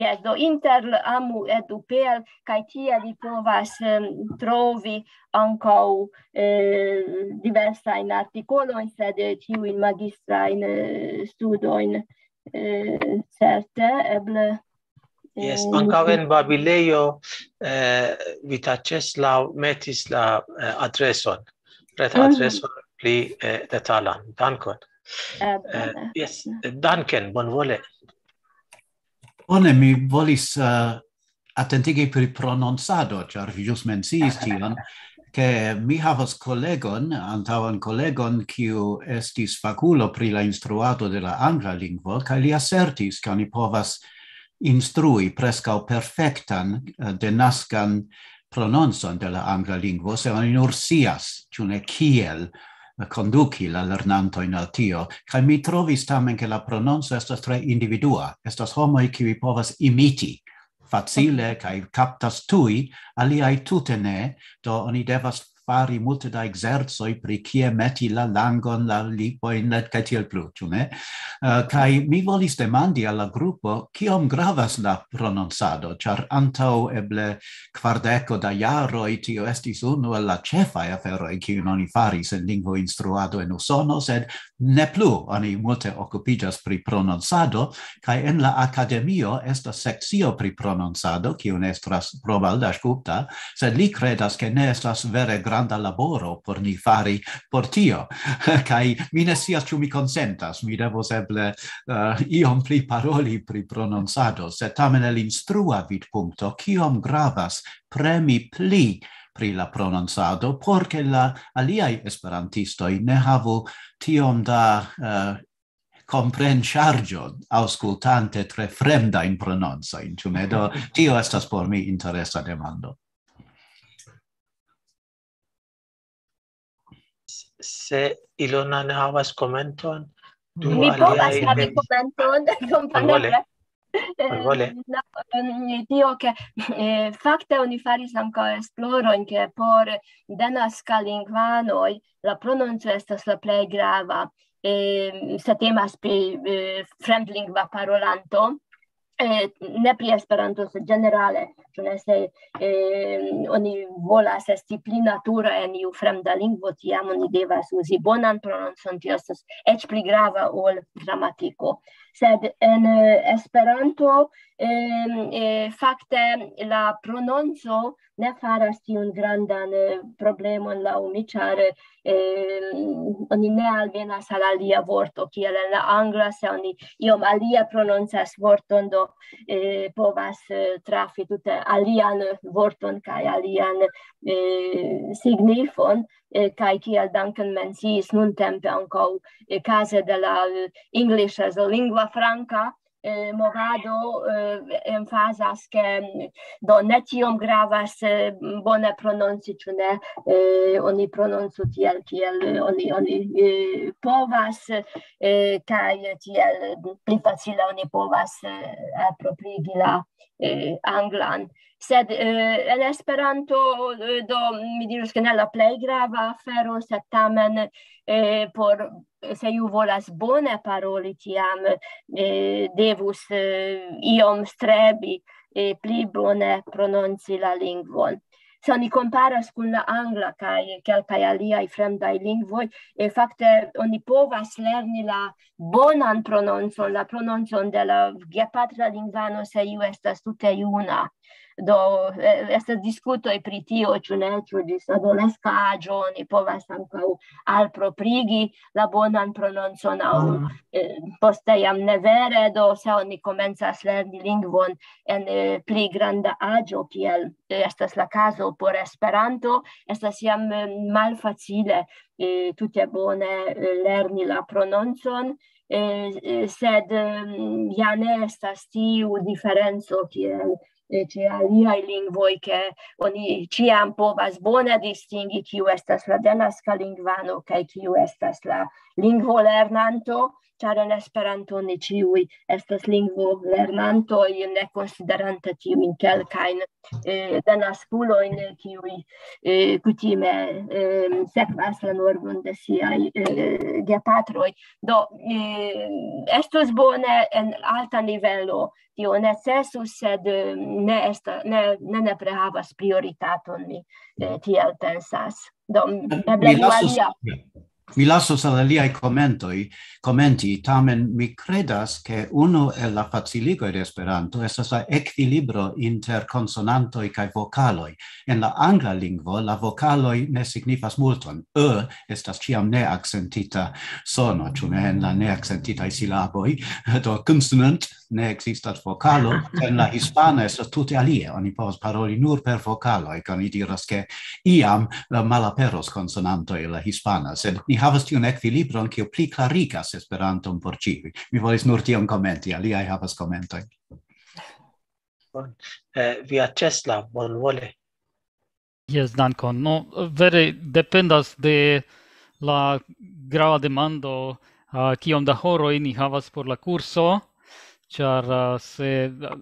Jes, do inter amu edu pl, kaj tie vi povas em, trovi ankaŭ eh, diversajn artikolojn, sed eh, tiujn magistrajn eh, studojn eh, certe, eble. Jes, ankaŭ en Babilejo eh, Vita Ĉeslau metis la eh, adreson, reta Mhm. adreson pli eh, detalan. Dankon. Eble. Eh, jes, danken, bonvole. Bone, mi volis uh, atentigi pri prononcado, ĉar vi ĵus menciis tion, ke mi havas kolegon, antaŭan kolegon, kiu estis fakulo pri la instruado de la angla lingvo, kaj li asertis, ke oni povas instrui preskaŭ perfektan eh, denaskan prononcon de la angla lingvo, se oni nur scias, ĉu ne, kiel eh, konduki la lernantojn al tio. Kaj mi trovis tamen, ke la prononco estas tre individua. Estas homoj, kiuj povas imiti facile kaj kaptas tuj, aliaj tute ne, do oni devas fari multe da ekzercoj pri kie meti la langon, la lipojn, kaj tiel plu, ĉu ne? Eh, Kaj mi volis demandi al la grupo, kiom gravas la prononcado, ĉar antaŭ eble kvardeko da jaroj tio estis unu el la ĉefaj aferoj, kiujn oni faris en lingvoinstruado en Usono, sed ne plu oni multe okupiĝas pri prononcado, kaj en la akademio estas sekcio pri prononcado, kiun estras Romuald Dasgupta, sed li kredas, ke ne estas vere granda laboro por ni fari por tio. Kaj mi ne scias, ĉu mi konsentas, mi devos eble eh, iom pli paroli pri prononcado, sed tamen el instrua vidpunkto, kiom gravas premi pli pri la prononcado, por ke la aliaj esperantistoj ne havu tiom da eh, komprenŝarĝo aŭskultante tre fremdajn prononcojn, ĉu ne? Do tio estas por mi interesa demando. Se Ilona ne havas komenton, Mi povas havi komenton, kompreneble. Bonvole. Eh, no, ehm, tio ke eh, fakte oni faris ankaŭ esplorojn, ke por denaska lingvanoj la prononco estas la plej grava, eh, se temas pri eh, fremdlingva parolanto, eh, ne pri Esperanto, sed ĝenerale, ĉu ne, se eh, oni volas esti pli natura en iu fremda lingvo, tiam oni devas uzi bonan prononcon, tio estas eĉ pli grava ol gramatiko. Sed en eh, Esperanto eh, eh, fakte la prononco ne faras tiun grandan eh, problemon laŭ mi, ĉar eh, oni ne alvenas al alia vorto, kiel en la angla, se oni iom alie prononcas vorton, do eh, povas eh, trafi tute alian vorton kaj alian eh, signifon, eh, kaj kiel Duncan menciis nuntempe ankaŭ eh, kaze de la eh, English as a lingua franca, eh, movado eh, emfazas, ke mm, do ne tiom gravas eh, bone prononci, ĉu ne, eh, oni prononcu tiel, kiel eh, oni, oni eh, povas, eh, kaj tiel pli facile oni povas eh, aproprigi la eh, anglan. Sed eh, en Esperanto, eh, do mi dirus, ke ne la plej grava afero, sed tamen eh, por, se iu volas bone paroli, tiam eh, devus eh, iom strebi eh, pli bone prononci la lingvon. Se oni komparas kun la angla kaj kelkaj aliaj fremdaj lingvoj, eh, fakte oni povas lerni la bonan prononcon, la prononcon de la gepatra lingvano, se iu estas tute juna. Do, eh, estas diskutoj pri tio, ĉu ne, ĉu ĝis adolesca aĝo oni povas ankaŭ alproprigi la bonan prononcon aŭ, eh, poste jam ne vere. Do, se oni komencas lerni lingvon en, eh, pli granda aĝo, kiel, eh, estas la kazo por Esperanto, estas jam, eh, malfacile, eh, tute bone, eh, lerni la prononcon, eh, eh, sed, ehm, ja ne estas tiu diferenco kiel, eh, ĉe aliaj lingvoj, ke oni ĉiam povas bone distingi, kiu estas la denaska lingvano kaj kiu estas la lingvolernanto, ĉar en Esperanto ni ĉiuj estas lingvolernantoj, ne konsiderante tiujn kelkajn, eh, denaskulojn, kiuj, eh, kutime, eh, sekvas la normon de siaj, eh, gepatroj. Do, eh, estus bone en alta nivelo, tio necesus, sed, eh, ne esta-, ne, ne nepre havas prioritaton, mi, eh, tiel pensas. Do, eble Mi lasos, alia. Mi lasos al aliaj komentoj, komenti, tamen mi kredas, ke unu el la faciligoj de Esperanto estas la ekvilibro inter konsonantoj kaj vokaloj. En la angla lingvo la vokaloj ne signifas multon. Ö estas ĉiam neakcentita sono, ĉu ne, en la neakcentitaj silaboj. Do consonant ne ekzistas vokalo, en la hispana estas tute alie. Oni povas paroli nur per vokaloj, kaj oni diras, ke iam, eh, malaperos konsonantoj en la hispana, sed ni havas tiun ekvilibron, kiu pli klarigas Esperanton por ĉiuj. Mi volis nur tion komenti, aliaj havas komentojn. Bon. Eh, Via Tesla, bonvole. Jes, dankon. No, vere dependas de la grava demando, ah, kiom da horoj ni havas por la kurso, ĉar, ah, se, ah,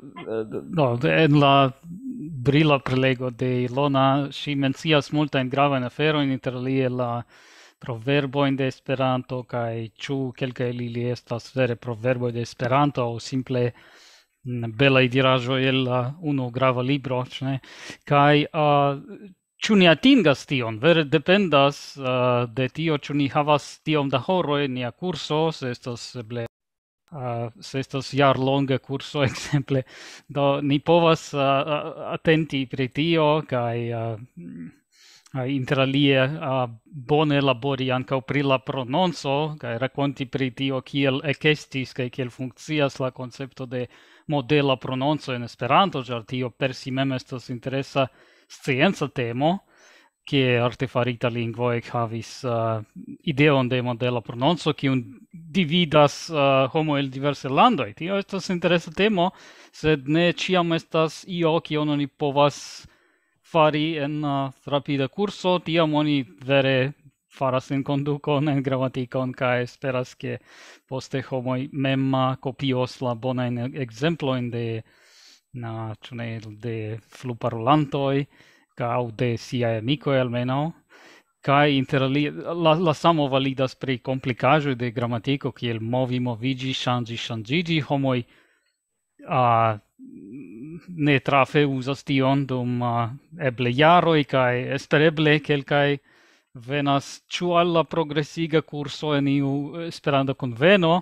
no, en la brila prelego de Ilona, ŝi mencias multajn gravajn aferojn, inter alie la proverbojn de Esperanto, kaj ĉu kelkaj el ili estas vere proverboj de Esperanto, aŭ simple, mm, belaj diraĵoj el, ah, unu grava libro, ĉu ne? Kaj, ah, ĉu ni atingas tion? Vere dependas, ah, de tio, ĉu ni havas tiom da horoj en nia kurso, se estas eble, ah, se estas jarlonga kurso, ekzemple. Do, ni povas, ah, ah, atenti pri tio, kaj, ah, mm, ah, inter alie, ah, bone labori ankaŭ pri la prononco, kaj rakonti pri tio, kiel ekestis kaj kiel funkcias la koncepto de modela prononco en Esperanto, ĉar tio per si mem estas interesa scienca temo, kie artefarita lingvo ekhavis, ah, ideon de modela prononco, kiun dividas, ah, homo el diverse landoj. Tio estas interesa temo, sed ne ĉiam estas io, kion oni povas fari en, ah, rapida kurso. Tiam oni vere faras en kondukon, en gramatikon, kaj esperas, ke poste homoj mem, ah, kopios la bonajn ekzemplojn de, na, ĉu ne, de fluparolantoj, aŭ de siaj amikoj almenaŭ. Kaj inter alie, la, la samo validas pri komplikaĵoj de gramatiko, kiel movi, moviĝi, ŝanĝi, ŝanĝiĝi. Homoj, ah, ne trafe uzas tion dum, ah, eble jaroj, kaj espereble kelkaj venas ĉu al la progresiga kurso en iu Esperanto-kunveno,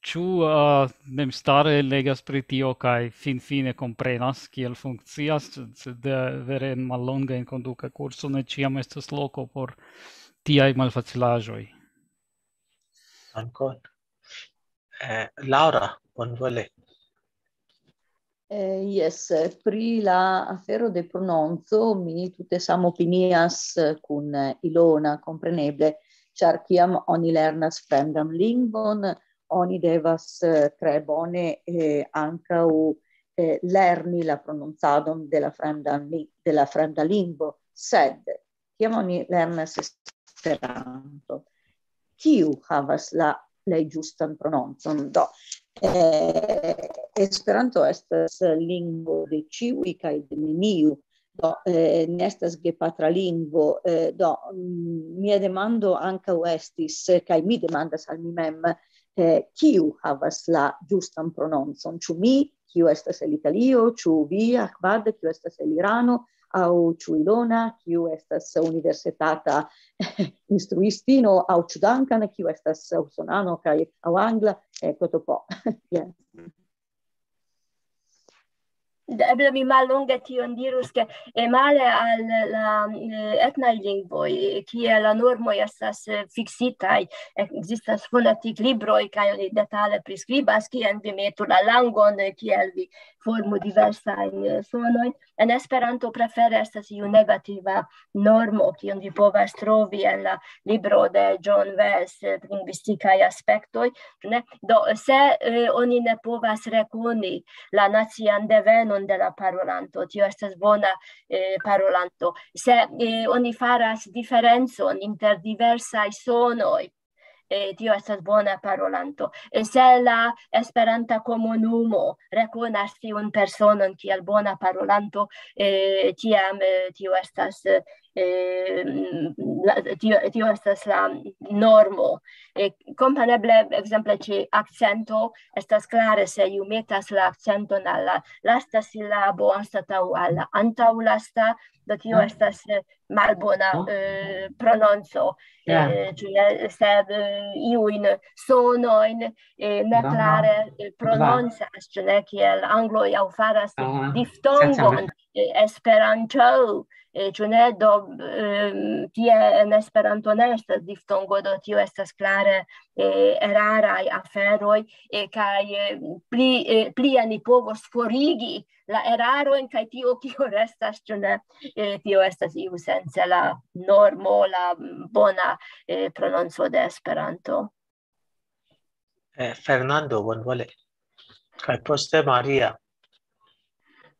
ĉu, ah, memstare legas pri tio kaj finfine komprenas, kiel funkcias, sed, eh, vere en mallonga enkonduka kurso ne ĉiam estas loko por tiaj malfacilaĵoj. Dankon. Eh, Laura, bonvole. Eh, jes, pri la afero de prononco mi tute samopinias kun, eh, Ilona, kompreneble, ĉar kiam oni lernas fremdan lingvon, oni devas, eh, tre bone, eh, ankaŭ, eh, lerni la prononcadon de la fremdan li-, de la fremda lingvo, sed kiam oni lernas Esperanto, kiu havas la plej ĝustan prononcon? Do, eh, Esperanto estas lingvo de ĉiuj kaj de neniu. Do, eh, ne estas gepatra lingvo. Eh, do, mm, mia demando ankaŭ estis, eh, kaj mi demandas al mi mem, eh, kiu havas la ĝustan prononcon? Ĉu mi, kiu estas el Italio, ĉu vi, Ahmad, kiu estas el Irano, aŭ ĉu Ilona, kiu estas universitata instruistino, aŭ ĉu Duncan, kiu estas usonano kaj aŭ angla, eh, kotopo. Jen. Eble mi mallonge tion dirus, ke, eh, male al la, eh, etnaj lingvoj, eh, kie la normoj estas, eh, fiksitaj, ekzistas fonetiklibroj, kaj oni detale priskribas, kien vi metu la langon, eh, kiel vi formu diversajn, eh, sonojn. En Esperanto prefere estas iu negativa normo, kiun vi povas trovi en la libro de John Wells, eh, Lingvistikaj aspektoj, ne? Do, se, eh, oni ne povas rekoni la nacian devenon de la parolanto, tio estas bona, eh, parolanto. Se, eh, oni faras diferencon inter diversaj sonoj, eh, tio estas bona parolanto. Eh, se la esperanta komunumo rekonas tiun personon kiel bona parolanto, eh, tiam, eh, tio estas, eh, la, tio, tio estas la normo. Eh, kompreneble, ekzemple, ĉe akcento estas klare, se iu metas la akcenton al la lasta silabo anstataŭ al la antaŭlasta, do tio Ah. estas, eh, malbona, Ah. eh, prononco. Ja. Eh, ĉu ne, sed, eh, iujn sonojn, eh, ne Aha. klare, eh, prononcas, ĉu ne, kiel angloj aŭ faras Aha. diftongon, Senca. eh, Esperanto, eh, ĉu ne, do, ehm, tie en Esperanto ne estas diftongo, do tio estas klare, eh, eraraj aferoj, eh, kaj, eh, pli, eh, plie ni povos forigi la erarojn, kaj tio, kio restas, ĉu ne, eh, tio estas iusence la normo, la bona, eh, prononco de Esperanto. Eh, Fernando, bonvole. Kaj poste Maria.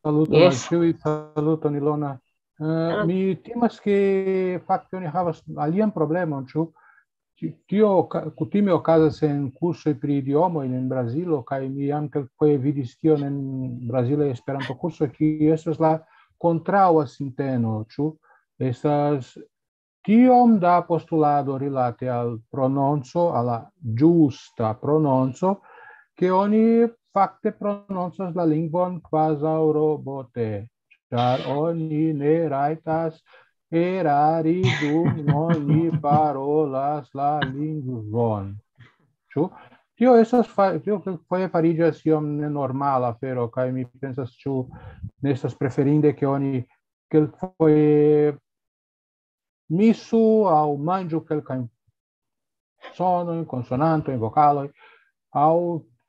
Saluton Yes. al ĉiuj, saluton, Ilona. Eh, Salut. Mi timas, ke fakte oni havas alian problemon, ĉu? Ti-, tio oka-, kutime okazas en kursoj pri idiomoj en Brazilo, kaj mi jam kelkfoje vidis tion en brazilaj Esperanto-kursoj, kiu estas la kontraŭa sinteno, ĉu? Estas tiom da postulado rilate al prononco, al la ĝusta prononco, ke oni fakte prononcas la lingvon kvazaŭ robote, ĉar oni ne rajtas erari, dum oni parolas la lingvon. Ĉu? Tio estas fa-, tio kelkfoje fariĝas iom nenormala afero, kaj mi pensas, ĉu ne estas preferinde, ke oni kelkfoje misu aŭ manĝu kelkajn sonojn, konsonantojn, vokaloj, aŭ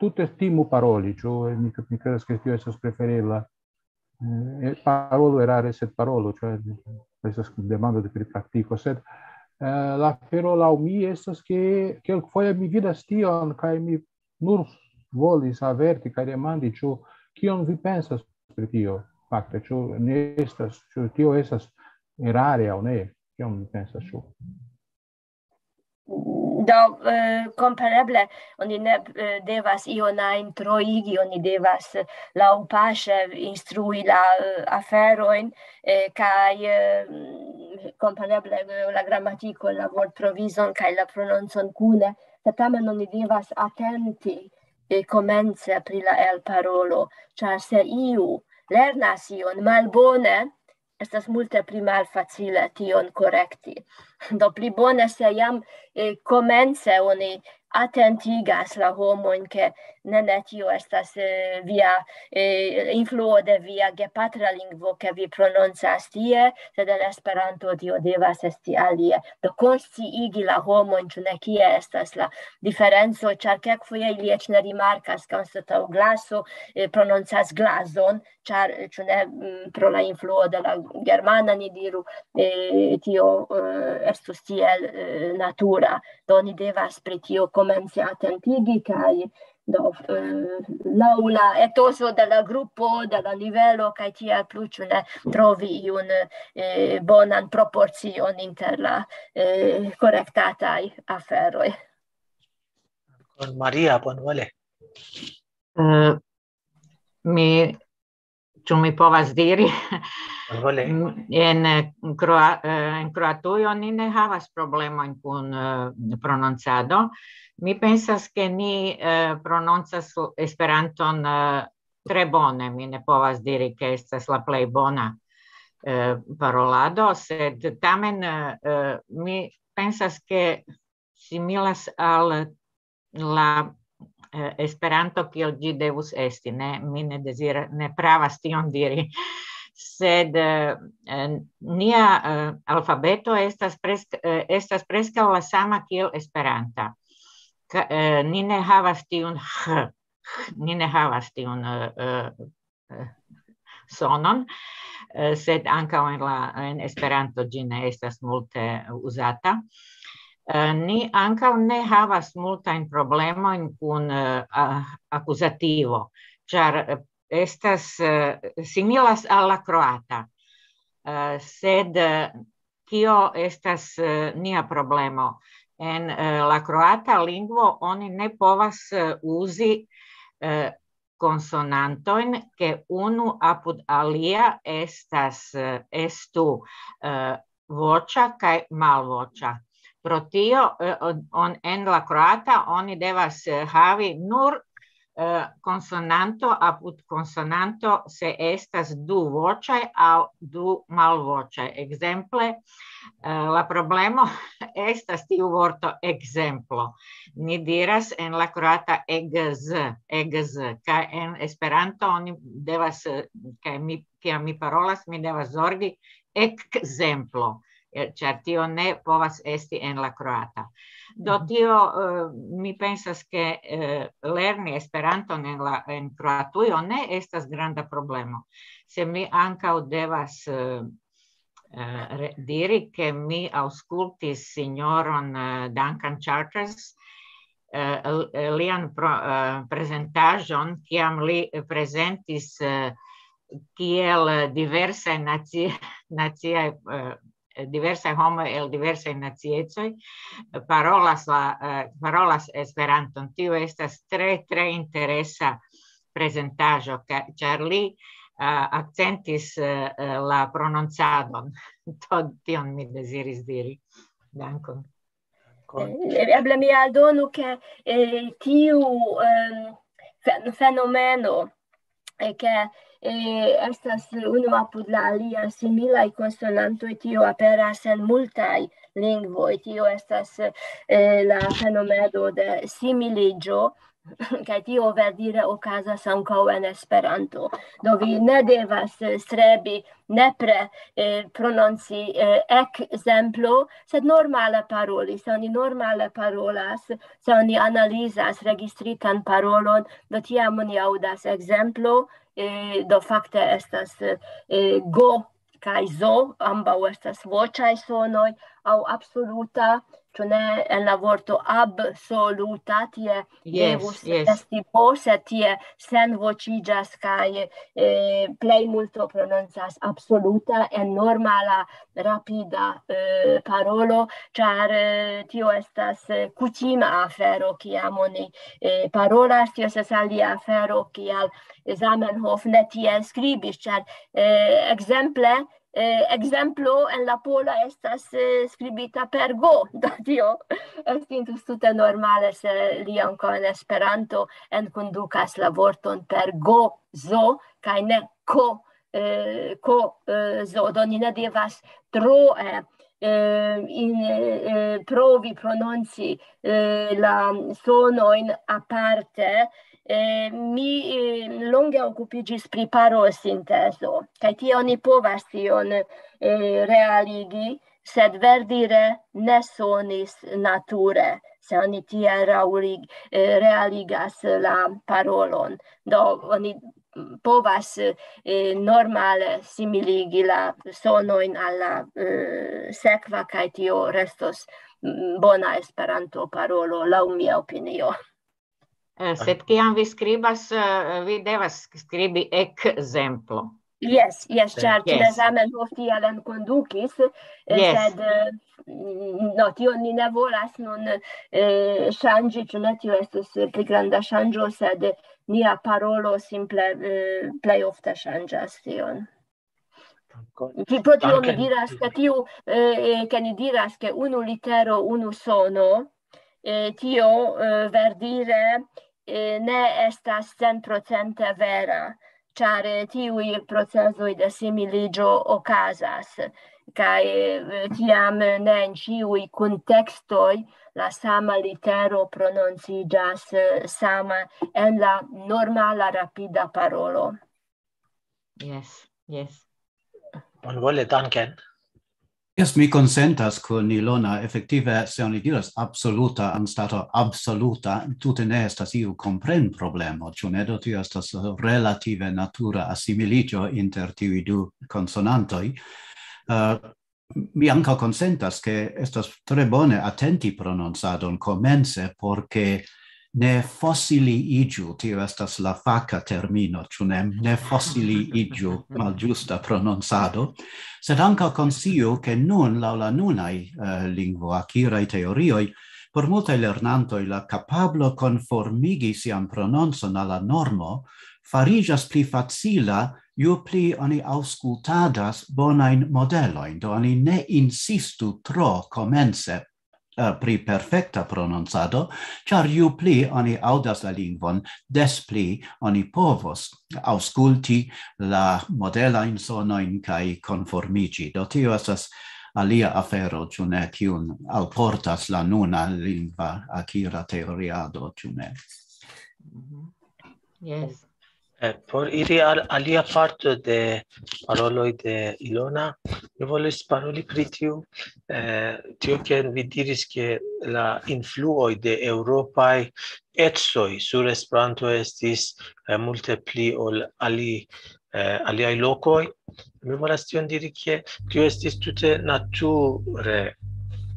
tute timu paroli, ĉu mi, mi kredas, ke tio estas preferebla. Eh, parolu erare, sed parolu, ĉu estas demando de pri praktiko, sed, eh, la afero laŭ mi estas, ke kelkfoje mi vidas tion, kaj mi nur volis averti kaj demandi, ĉu kion vi pensas pri tio, fakte, ĉu ne estas, ĉu tio estas erare aŭ ne, kion vi pensas, ĉu? Do, eh, kompreneble, oni ne, eh, devas ion ajn troigi, oni devas, eh, laŭpaŝe instrui la, eh, aferojn, eh, kaj, eh, kompreneble, eh, la gramatiko, la vortprovizon kaj la prononcon kune, sed tamen oni devas atenti, eh, komence pri la elparolo, ĉar se iu lernas ion malbone, estas multe pli malfacile tion korekti. Do pli bone, se jam, eh, komence oni atentigas la homojn, ke ne, ne, tio estas, eh, via, eh, influo de via gepatra lingvo, ke vi prononcas tie, sed en Esperanto tio devas esti alie. Do konsciigi la homojn, ĉu ne, kie estas la diferenco, ĉar kelkfoje ili eĉ ne rimarkas, ke anstataŭ glaso, eh, prononcas glazon, ĉar, eh, ĉu ne, mm, pro la influo de la germana, ni diru, eh, tio, eh, estus tiel, eh, natura. Do ni devas pri tio komence atentigi, kaj do, eh, laŭ la etoso de la grupo, de la nivelo, kaj tiel plu, ĉu ne, trovi iun, eh, bonan proporcion inter la, eh, korektataj aferoj. Kun Maria, bonvole. Eh, mi, ĉu mi povas diri? Bonvole. En, eh, Kroa-, eh, en Kroatujo ni ne havas problemojn kun, eh, prononcado. Mi pensas, ke ni, eh, prononcas Esperanton, eh, tre bone. Mi ne povas diri, ke estas la plej bona, eh, parolado, sed tamen, eh, mi pensas, ke similas al la eh, Esperanto kiel ĝi devus esti. Ne, mi ne dezira-, ne pravas tion diri. Sed, eh, eh, nia, eh, alfabeto estas presk-, eh, estas preskaŭ la sama kiel Esperanta. Ka-, eh, ni ne havas tiun h, h, ni ne havas tiun, eh, eh, eh, sonon, eh, sed ankaŭ en la, en Esperanto ĝi ne estas multe uzata. Eh, ni ankaŭ ne havas multajn problemojn kun, eh, a-, akuzativo, ĉar, eh, estas, eh, similas al la kroata. Eh, sed, eh, kio estas, eh, nia problemo? En, eh, la kroata lingvo oni ne povas, eh, uzi, eh, konsonantojn, ke unu apud alia estas, eh, estu, eh, voĉa kaj malvoĉa. Pro tio, eh, on, on, en la kroata oni devas, eh, havi nur, eh, konsonanto apud konsonanto, se estas du voĉaj aŭ du malvoĉaj. Ekzemple, eh, la problemo estas tiu vorto ekzemplo. Ni diras en la kroata egz, egz, kaj en Esperanto oni devas, eh, kaj mi, kiam mi parolas, mi devas zorgi ekzemplo, eh, ĉar tio ne povas esti en la kroata. Do Mhm. tio, eh, mi pensas, ke, eh, lerni Esperanton en la, en Kroatujo ne estas granda problemo. Se mi ankaŭ devas, eh, eh, re-, diri, ke mi aŭskultis sinjoron, eh, Duncan Charters, eh, l-, eh, lian pro-, eh, prezentaĵon, kiam li prezentis, eh, kiel, eh, diversaj naci-, naciaj, eh, diversaj homoj el diversaj naciecoj, eh, parolas la, eh, parolas Esperanton. Tio estas tre, tre interesa prezentaĵo, ka-, ĉar li, eh, akcentis, eh, eh, la prononcadon. To, tion mi deziris diri. Dankon. Eh, eble mi aldonu, ke, eh, tiu, ehm, fe-, fenomeno, eh, ke, eh, estas unu apud la alia similaj konsonantoj, tio aperas en multaj lingvoj. Tio estas, eh, la fenomeno de similiĝo, kaj tio verdire okazas ankaŭ en Esperanto. Do vi ne devas, eh, strebi nepre, eh, prononci, eh, ekzemplo, sed normale paroli. Se oni normale parolas, se oni analizas registritan parolon, do tiam oni aŭdas ekzemplo, eh, do fakte estas, eh, go kaj zo, ambaŭ estas voĉaj sonoj, aŭ absoluta, ĉu ne, en la vorto absoluta, tie Jes, devus jes. esti bo, sed tie senvoĉiĝas kaj, eh, plej multo prononcas absoluta en normala, rapida, eh, parolo, ĉar, eh, tio estas, eh, kutima afero, kiam oni, eh, parolas, tio estas alia afero, kial Zamenhof ne tiel skribis, ĉar, eh, ekzemple, eh, ekzemplo en la pola estas, eh, skribita per go, do tio estintus tute normale, se li ankaŭ en Esperanto enkondukas la vorton per go, zo, kaj ne ko, eh, ko, eh, zo. Do ni ne devas tro, eh, eh, in, eh, provi prononci, eh, la sonojn aparte. Eh, mi, eh, longe okupiĝis pri parolsintezo, kaj tie oni povas tion, eh, realigi, sed verdire ne sonis nature, se oni tiel raŭlig-, eh, realigas la parolon. Do oni povas, eh, normale similigi la sonojn al la, eh, sekva, kaj tio restos, mm, bona Esperanto-parolo, laŭ mia opinio. Eh, sed kiam vi skribas, eh, vi devas skribi ekzemplo. Jes, jes, Eh, ĉar ĉi jes. Zamenhof tiel enkondukis, eh, Jes. sed, eh, mm, no, tion ni ne volas nun, eh, ŝanĝi, ĉu ne, tio estus, eh, pli granda ŝanĝo, sed nia parolo simple, eh, plej ofte ŝanĝas tion. Ĝi-, pro tio mi Danke. Diras, ke tiu, eh, eh, ke ni diras, ke unu litero, unu sono, eh, tio, eh, verdire, eh, ne estas centprocente vera, ĉar, eh, tiuj procezoj de similiĝo okazas, kaj, eh, tiam ne en ĉiuj kuntekstoj la sama litero prononciĝas, eh, sama en la normala rapida parolo. Yes, yes. Bonvole, danken. Jes, mi konsentas kun Ilona. Efektive, se oni diras absoluta anstataŭ absoluta, tute ne estas iu komprenproblemo, ĉu ne? Do tio estas relative natura asimiliĝo inter tiuj du konsonantoj. Eh, mi ankaŭ konsentas, ke estas tre bone atenti prononcadon komence, por ke ne fosiliiĝu, tio estas la faka termino, ĉu ne? Ne fosiliiĝu, malĝusta prononcado, sed ankaŭ konsciu, ke nun, laŭ la nunaj, eh, lingvoakiraj teorioj, por multaj lernantoj la kapablo konformigi sian prononcon al la normo fariĝas pli facila, ju pli oni aŭskultadas bonajn modelojn. Do oni ne insistu tro komence, eh, pri perfekta prononcado, ĉar ju pli oni aŭdas la lingvon, des pli oni povos aŭskulti la modelajn sonojn kaj konformiĝi. Do tio estas alia afero, ĉu ne, kiun alportas la nuna lingva akira teoriado, ĉu ne? Mhm. Yes. Eh, por iri al alia parto de paroloj de Ilona, mi volis paroli pri tiu, eh, tio, ke vi diris, ke la influoj de eŭropaj ecoj sur Esperanto estis, eh, multe pli ol ali, eh, aliaj lokoj. Mi volas tion diri, ke tio estis tute nature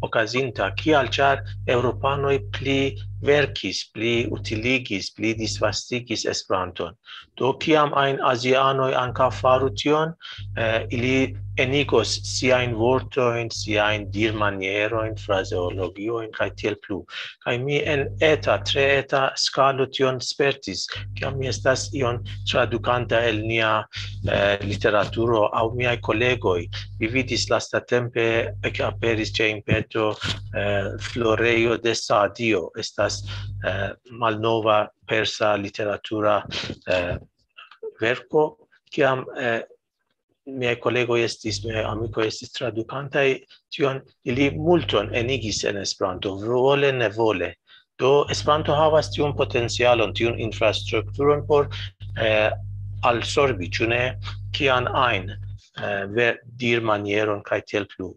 okazinta, kial, ĉar eŭropanoj pli verkis, pli utiligis, pli disvastigis Esperanton. Do kiam ajn azianoj ankaŭ faru tion, eh, ili enigos siajn vortojn, siajn dirmanierojn, frazeologiojn kaj tiel plu. Kaj mi en eta, tre eta skalo tion spertis, kiam mi estas ion tradukanta el nia, eh, literaturo aŭ miaj kolegoj. Mi vidis lastatempe, ekaperis ĉe Impeto, eh, Florejo de Sadio, estas, eh, malnova persa literatura, eh, verko, kiam, eh, miaj kolegoj estis, miaj amikoj estis tradukantaj tion, ili multon enigis en Esperanto, vole, ne vole. Do Esperanto havas tiun potencialon, tiun infrastrukturon por, eh, alsorbi, ĉu ne, kian ajn, eh, ver-, dirmanieron kaj tiel plu.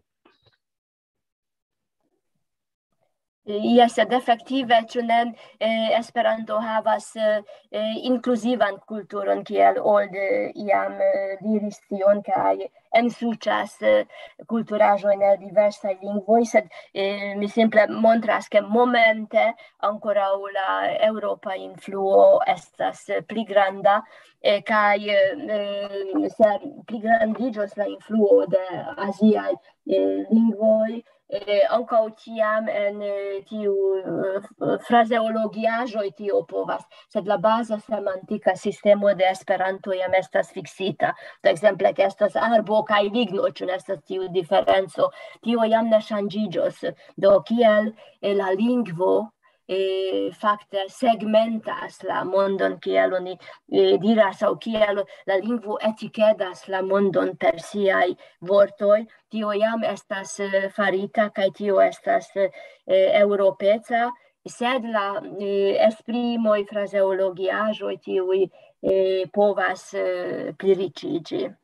Jes, sed efektive, ĉu ne, eh, Esperanto havas, eh, eh, inkluzivan kulturon, kiel Old, eh, iam, eh, diris tion, kaj ensuĉas, eh, kulturaĵojn el diversaj lingvoj, sed, eh, mi simple montras, ke momente ankoraŭ la eŭropa influo estas, eh, pli granda, eh, kaj, eh, se pligrandiĝos la influo de aziaj, eh, lingvoj, eh, ankaŭ tiam en, eh, tiu, eh, frazeologiaĵoj tio povas, sed la baza semantika sistemo de Esperanto jam estas fiksita. Do ekzemple, ke estas arbo kaj ligno, ĉu ne estas tiu diferenco? Tio jam ne ŝanĝiĝos. Do kiel, eh, la lingvo, eh, fakte segmentas la mondon, kiel oni, eh, diras, aŭ kiel la lingvo etikedas la mondon per siaj vortoj, tio jam estas, eh, farita, kaj tio estas, eh, eŭropeca, sed la, eh, esprimoj, frazeologiaĵoj, tiuj, eh, povas, eh, pliriĉiĝi.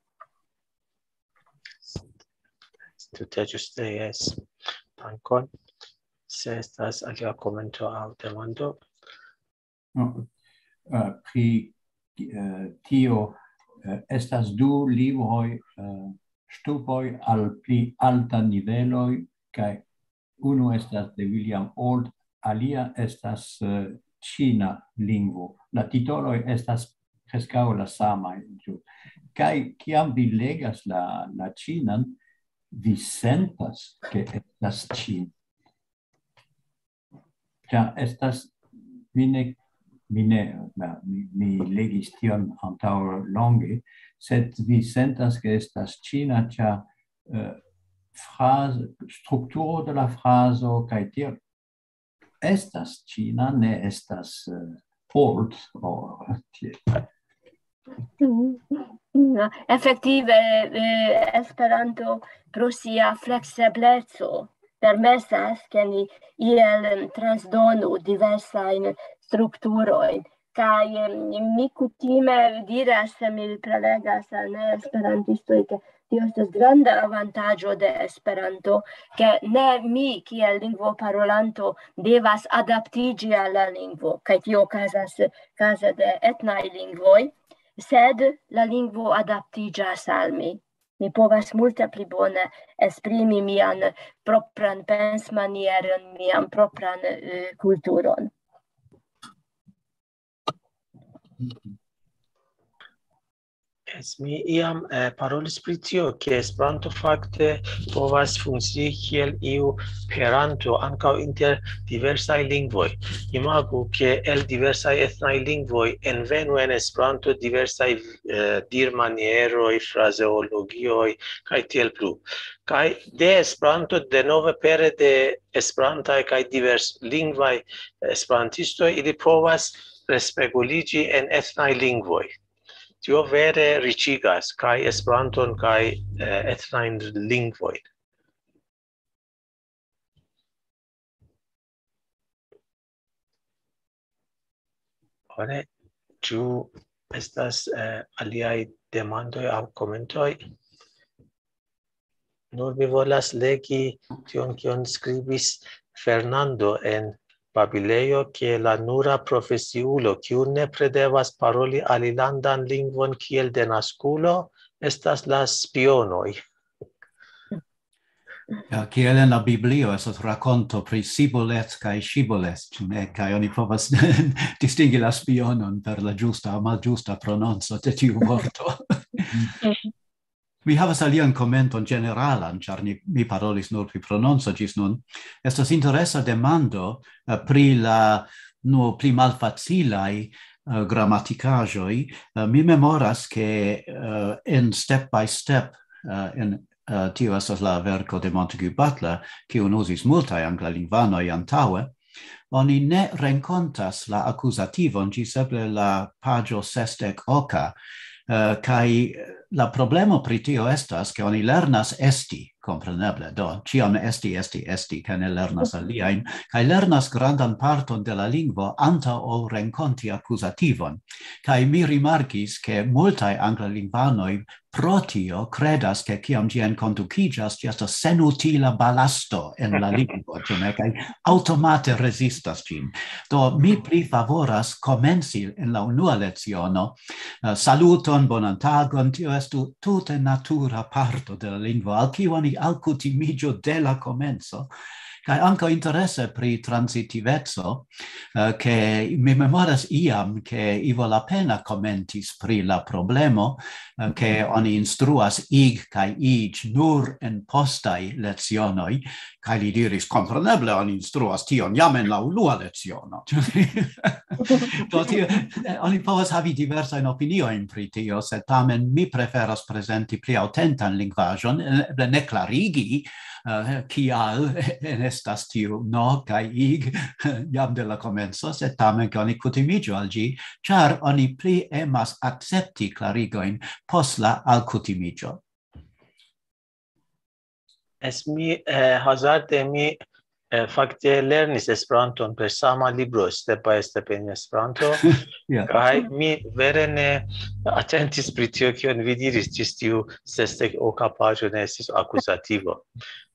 Tute ĝuste, jes. Dankon. Se estas alia komento aŭ demando. No, eh, pri, eh, tio, eh, estas du libroj, eh, Ŝtupoj al pli alta niveloj, kaj unu estas de William Old, alia estas, eh, ĉina lingvo. La titoloj estas preskaŭ la samaj, ĉu? Kaj kiam vi legas la, la ĉinan, vi sentas, ke estas ĉin. Ĉar estas, mi ne, mi ne, na, mi, mi legis tion antaŭ longe, sed vi sentas, ke estas ĉina, ĉar, eh, fraz-, strukturo de la frazo kaj tiel estas ĉina, ne estas, eh, Old o tiel. No, efektive, eh, Esperanto pro sia fleksebleco, permesas, ke ni iel, em, transdonu diversajn strukturojn. Kaj, em, mi kutime diras, se mi prelegas al neesperantistoj, ke tio estas granda avantaĝo de Esperanto, ke ne mi, kiel lingvoparolanto, devas adaptiĝi al la lingvo, kaj tio okazas kaze de etnaj lingvoj, sed la lingvo adaptiĝas al mi. Mi povas multe pli bone esprimi mian propran pensmanieron, mian propran, eh, kulturon. Yes, mi iam, eh, parolis pri tio, ke Esperanto fakte povas funkcii kiel iu peranto ankaŭ inter diversaj lingvoj. Imagu, ke el diversaj etnaj lingvoj envenu en Esperanto diversaj, eh, dirmanieroj, frazeologioj, kaj tiel plu. Kaj de Esperanto, denove pere de esperantaj kaj diverslingvaj esperantistoj, ili povas respeguliĝi en etnaj lingvoj. Tio vere riĉigas kaj Esperanton, kaj, eh, etnajn lingvojn. Bone, ĉu estas, eh, aliaj demandoj aŭ komentoj? Nur mi volas legi tion, kion skribis Fernando en babilejo, ke la nura profesiulo, kiu nepre devas paroli alilandan lingvon kiel denaskulo, estas la spionoj. Ja, kiel en la Biblio estas rakonto pri Sibolet kaj Ŝibolet, ĉu ne? Kaj oni povas distingi la spionon per la ĝusta aŭ malĝusta prononco de tiu vorto. Mi havas alian komenton ĝeneralan, ĉar ni, mi parolis nur pri prononco ĝis nun. Estas interesa demando, eh, pri la, nu, pli malfacilaj, eh, gramatikaĵoj. Eh, mi memoras, ke, eh, en Step by Step, eh, en, eh, tio estas la verko de Montague Butler, kiun uzis multaj anglalingvanoj antaŭe, oni ne renkontas la akuzativon ĝis eble la paĝo sesdek oka, eh, kaj la problemo pri tio estas, ke oni lernas esti, kompreneble, do, ĉiam esti, esti, esti, kaj ne lernas aliajn, kaj lernas grandan parton de la lingvo antaŭ ol renkonti akuzativon. Kaj mi rimarkis, ke multaj anglalingvanoj pro tio kredas, ke kiam ĝi enkondukiĝas, ĝi estas senutila balasto en la lingvo, ĉu ne? Kaj aŭtomate rezistas ĝin. Do, mi pli favoras komenci en la unua leciono, eh, "Saluton, bonan tagon", tio estu tute natura parto de la lingvo, al kiu oni alkutimiĝu de la komenco. Kaj ankaŭ interese pri transitiveco, eh, ke mi memoras iam, ke Ivo Lapena komentis pri la problemo, eh, ke oni instruas "ig" kaj "iĝ" nur en postaj lecionoj, kaj li diris, "Kompreneble oni instruas tion jam en la unua leciono." Do tio, eh, oni povas havi diversajn opiniojn pri tio, sed tamen mi preferas prezenti pli aŭtentan lingvaĵon, eh, eble ne klarigi, eh, kial enestas tiu "no" kaj "ig" jam de la komenco, sed tamen ke oni kutimiĝu al ĝi, ĉar oni pli emas akcepti klarigojn post la alkutimiĝo. Es mi, eh, hazarde mi, eh, fakte lernis Esperanton per sama libro, Step by Step en Esperanto. Ja. Kaj mi vere ne atentis pri tio, kion vi diris, ĝis tiu sesdek oka paĝo ne estis akuzativo.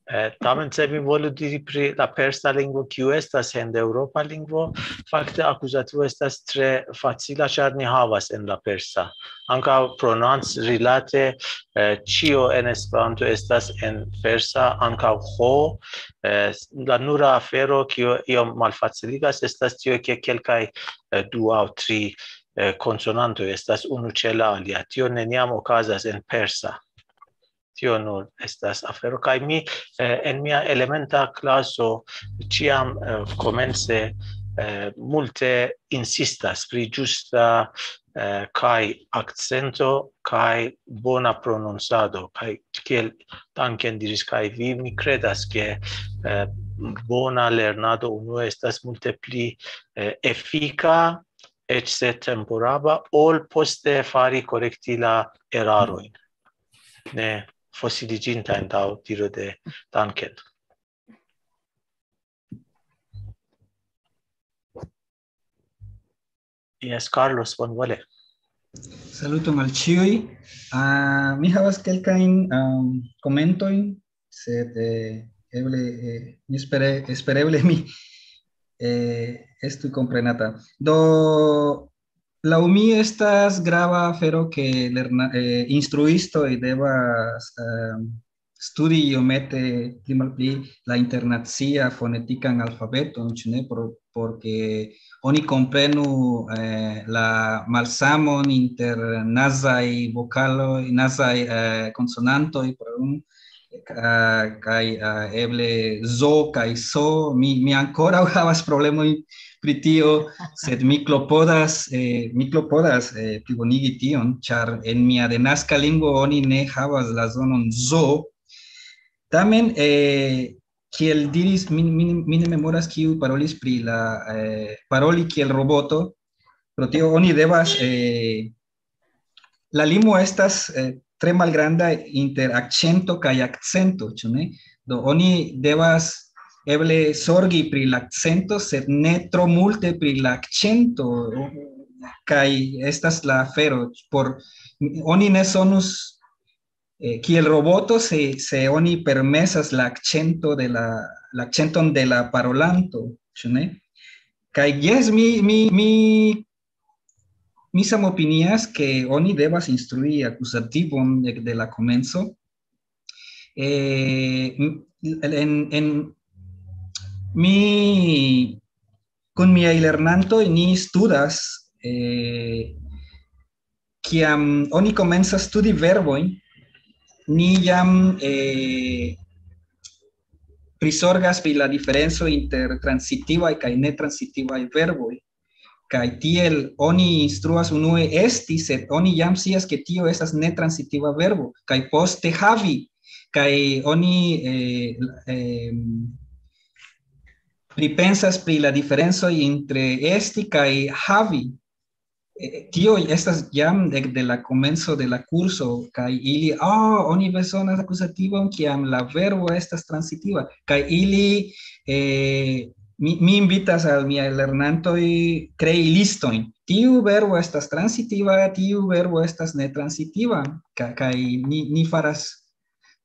Eh, tamen, se mi volu diri pri la persa lingvo, kiu estas hindeŭropa lingvo, fakte akuzativo estas tre facila, ĉar ni havas en la persa. Ankaŭ prononc rilate, eh, ĉio en Esperanto estas en persa, ankaŭ "ho". Eh, la nura afero, kio iom malfaciligas, estas tio, ke kelkaj, eh, du aŭ tri, eh, konsonantoj estas unu ĉe la alia. Tio neniam okazas en persa. Tio nur estas afero. Kaj mi, eh, en mia elementa klaso ĉiam, eh, komence, eh, multe insistas pri ĝusta, eh, kaj akcento kaj bona prononcado. Kaj kiel Duncan diris, kaj vi, mi kredas, ke, eh, bona lernado unue estas multe pli, eh, efika, eĉ se temporaba, ol poste fari korekti la erarojn. Ne fosiliĝinta en diro de Duncan. Yes, Carlos, bonvole. Saluton al ĉiuj. Uh, mi havas kelkajn um, komentojn, sed eh, eble, eh, mi espere, espereble mi eh, estu komprenata. Do, laŭ mi estas grava afero, ke lerna, eh, instruistoj devas eh, studi iomete pli malpli la internacia fonetikan alfabeton, ĉu ne? Por, porque oni komprenu eh, la malsamon inter nazaj vokaloj, nazaj eh, konsonantoj, por un, eh, kaj eh, eble zo kaj so. Mi, mi ankoraŭ havas problemojn pri tio, sed mi klopodas, eh, mi klopodas eh, plibonigi tion, ĉar en mia denaska lingvo oni ne havas la zonon zo. Tamen, eh, kiel diris, mi, mi, mi ne memoras kiu parolis pri la eh, paroli kiel roboto, pro tio oni devas, eh, la limo estas eh, tre malgranda inter akĉento kaj akcento, ĉu ne? Do oni devas eble zorgi pri la akcento, sed ne tro multe pri la akĉento, kaj estas la afero, por, oni ne sonus eh, kiel roboto se, se oni permesas la akĉento de la, la akĉenton de la parolanto, ĉu ne? Kaj jes, mi, mi, mi, mi samopinias, ke oni devas instrui akuzativon de, de la komenco. Eh, en, en, mi, kun miaj lernantoj ni studas eh, kiam oni komencas studi verbojn, ni jam eh, prisorgas pri la diferenco inter transitivaj kaj netransitivaj verboj. Kaj tiel oni instruas unue esti, sed oni jam scias, ke tio estas netransitiva verbo, kaj poste havi, kaj oni eh, eh, pripensas pri la diferencoj inter esti kaj havi. Eh, tio estas jam de, de la komenco de la kurso, kaj ili, oh, oni bezonas akuzativon, kiam la verbo estas transitiva, kaj ili, eh, mi, mi invitas al miaj lernantoj krei listojn. Tiu verbo estas transitiva, tiu verbo estas netransitiva, kaj, kaj ni, ni faras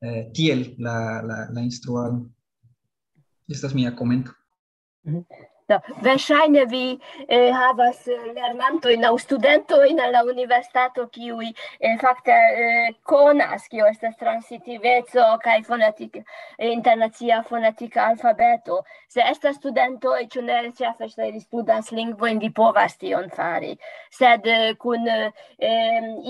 eh, tiel la, la, la instruado. Estas mia komento. Do, verŝajne vi eh, havas eh, lernantojn aŭ studentojn en la universitato, kiuj eh, fakte eh, konas, kio estas transitiveco kaj fonetik, internacia fonetika alfabeto. Se estas studentoj, ĉu ne, ĉefe se vi studas lingvojn, vi povas tion fari. Sed eh, kun eh,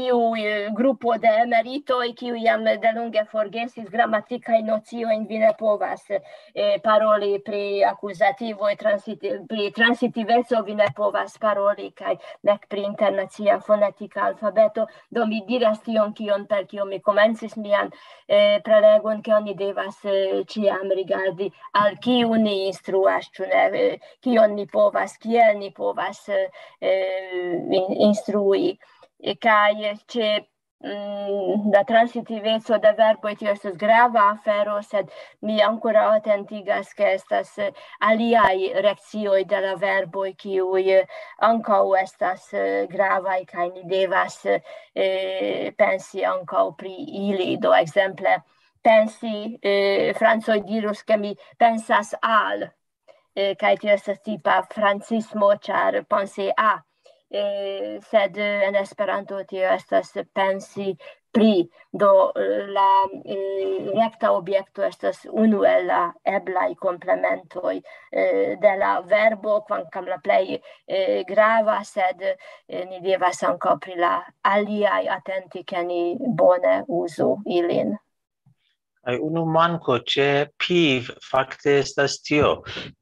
iu eh, grupo de emeritoj, kiu jam delonge forgesis gramatikajn nociojn, vi ne povas eh, paroli pri akuzativoj, transiti, pri transitiveco vi ne povas paroli, kaj nek pri internacia fonetika alfabeto. Do mi diras tion, kion, per kio mi komencis mian eh, prelegon, ke oni devas eh, ĉiam rigardi, al kiu ni instruas, ĉu ne, eh, kion ni povas, kiel ni povas eh, eh, in, instrui. E kaj ĉe mm, la transitiveco de verboj, tio estas grava afero, sed mi ankoraŭ atentigas, ke estas eh, aliaj reakcioj de la verboj, kiuj eh, ankaŭ estas eh, gravaj, kaj ni devas eh, pensi ankaŭ pri ili. Do, ekzemple, pensi, eh, francoj dirus, ke mi pensas al, eh, kaj tio estas tipa francismo, ĉar pensi a, eh, sed eh, en Esperanto tio estas pensi pri. Do, eh, la eh, rekta objekto estas unu el la eblaj komplementoj eh, de la verbo, kvankam la plej eh, grava, sed eh, ni devas ankaŭ pri la aliaj atenti, ke ni bone uzu ilin. Kaj unu manko ĉe piv fakte estas tio,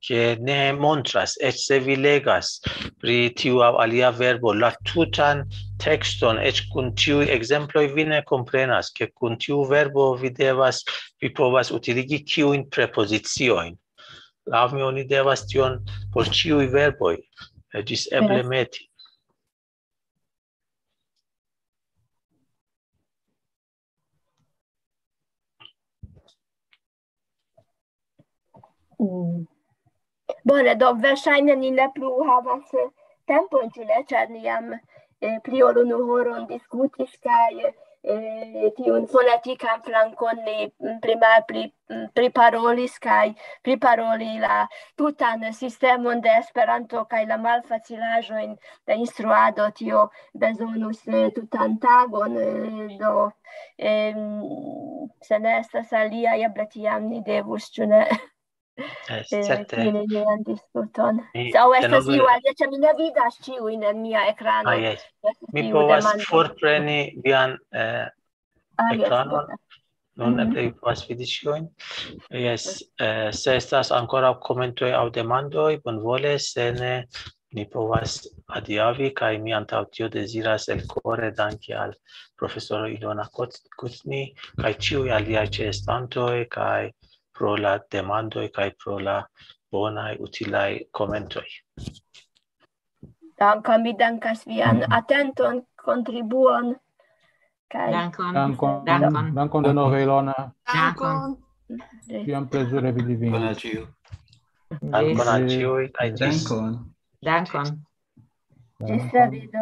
ke ne montras, eĉ se vi legas pri tiu aŭ alia verbo, la tutan tekston, eĉ kun tiuj ekzemploj vi ne komprenas, ke kun tiu verbo vi devas, vi povas utiligi kiujn prepoziciojn. Laŭ mi oni devas tion por ĉiuj verboj, eh, ĝis eble meti. Mm. Bone, do verŝajne ni ne plu havas eh, tempon, ĉu ne, ĉar ni jam eh, pli ol unu horon diskutis kaj eh, tiun fonetikan flankon ni mm, pli malpli mm, priparolis kaj priparoli la tutan sistemon de Esperanto kaj la malfacilaĵojn de instruado, tio bezonus eh, tutan tagon, eh, do em, se ne estas alia, eble tiam ni devus, ĉu ne? Es, Eh, certe. fini nian diskuton. Mi Se aŭ estas denove- iu alia, ĉar mi ne vidas ĉiujn en mia ekrano. Ah, yes. Estas Mi iu povas demando. forpreni vian eh, Ah, yes, ekranon. bone. Nun Mhm. eble vi povas vidi ĉiujn. Yes, eh, se estas ankoraŭ komentoj aŭ demandoj, bonvole, se ne, ni povas adiaŭi, kaj mi antaŭ tio deziras el kore danki al profesoro Ilona Kot-, Kutni kaj ĉiuj aliaj ĉeestantoj, kaj pro la demandoj, kaj pro la bonaj, utilaj komentoj. Dankon, mi dankas vian atenton, kontribuon. Kaj Dankon. Dankon, Dankon. dankon denove, Ilona. Dankon. Kiam plezure vidi vin. Bona ĉiu. Dankon al ĉiuj, kaj ĝis. Dankon. Dankon. Ĝis revido.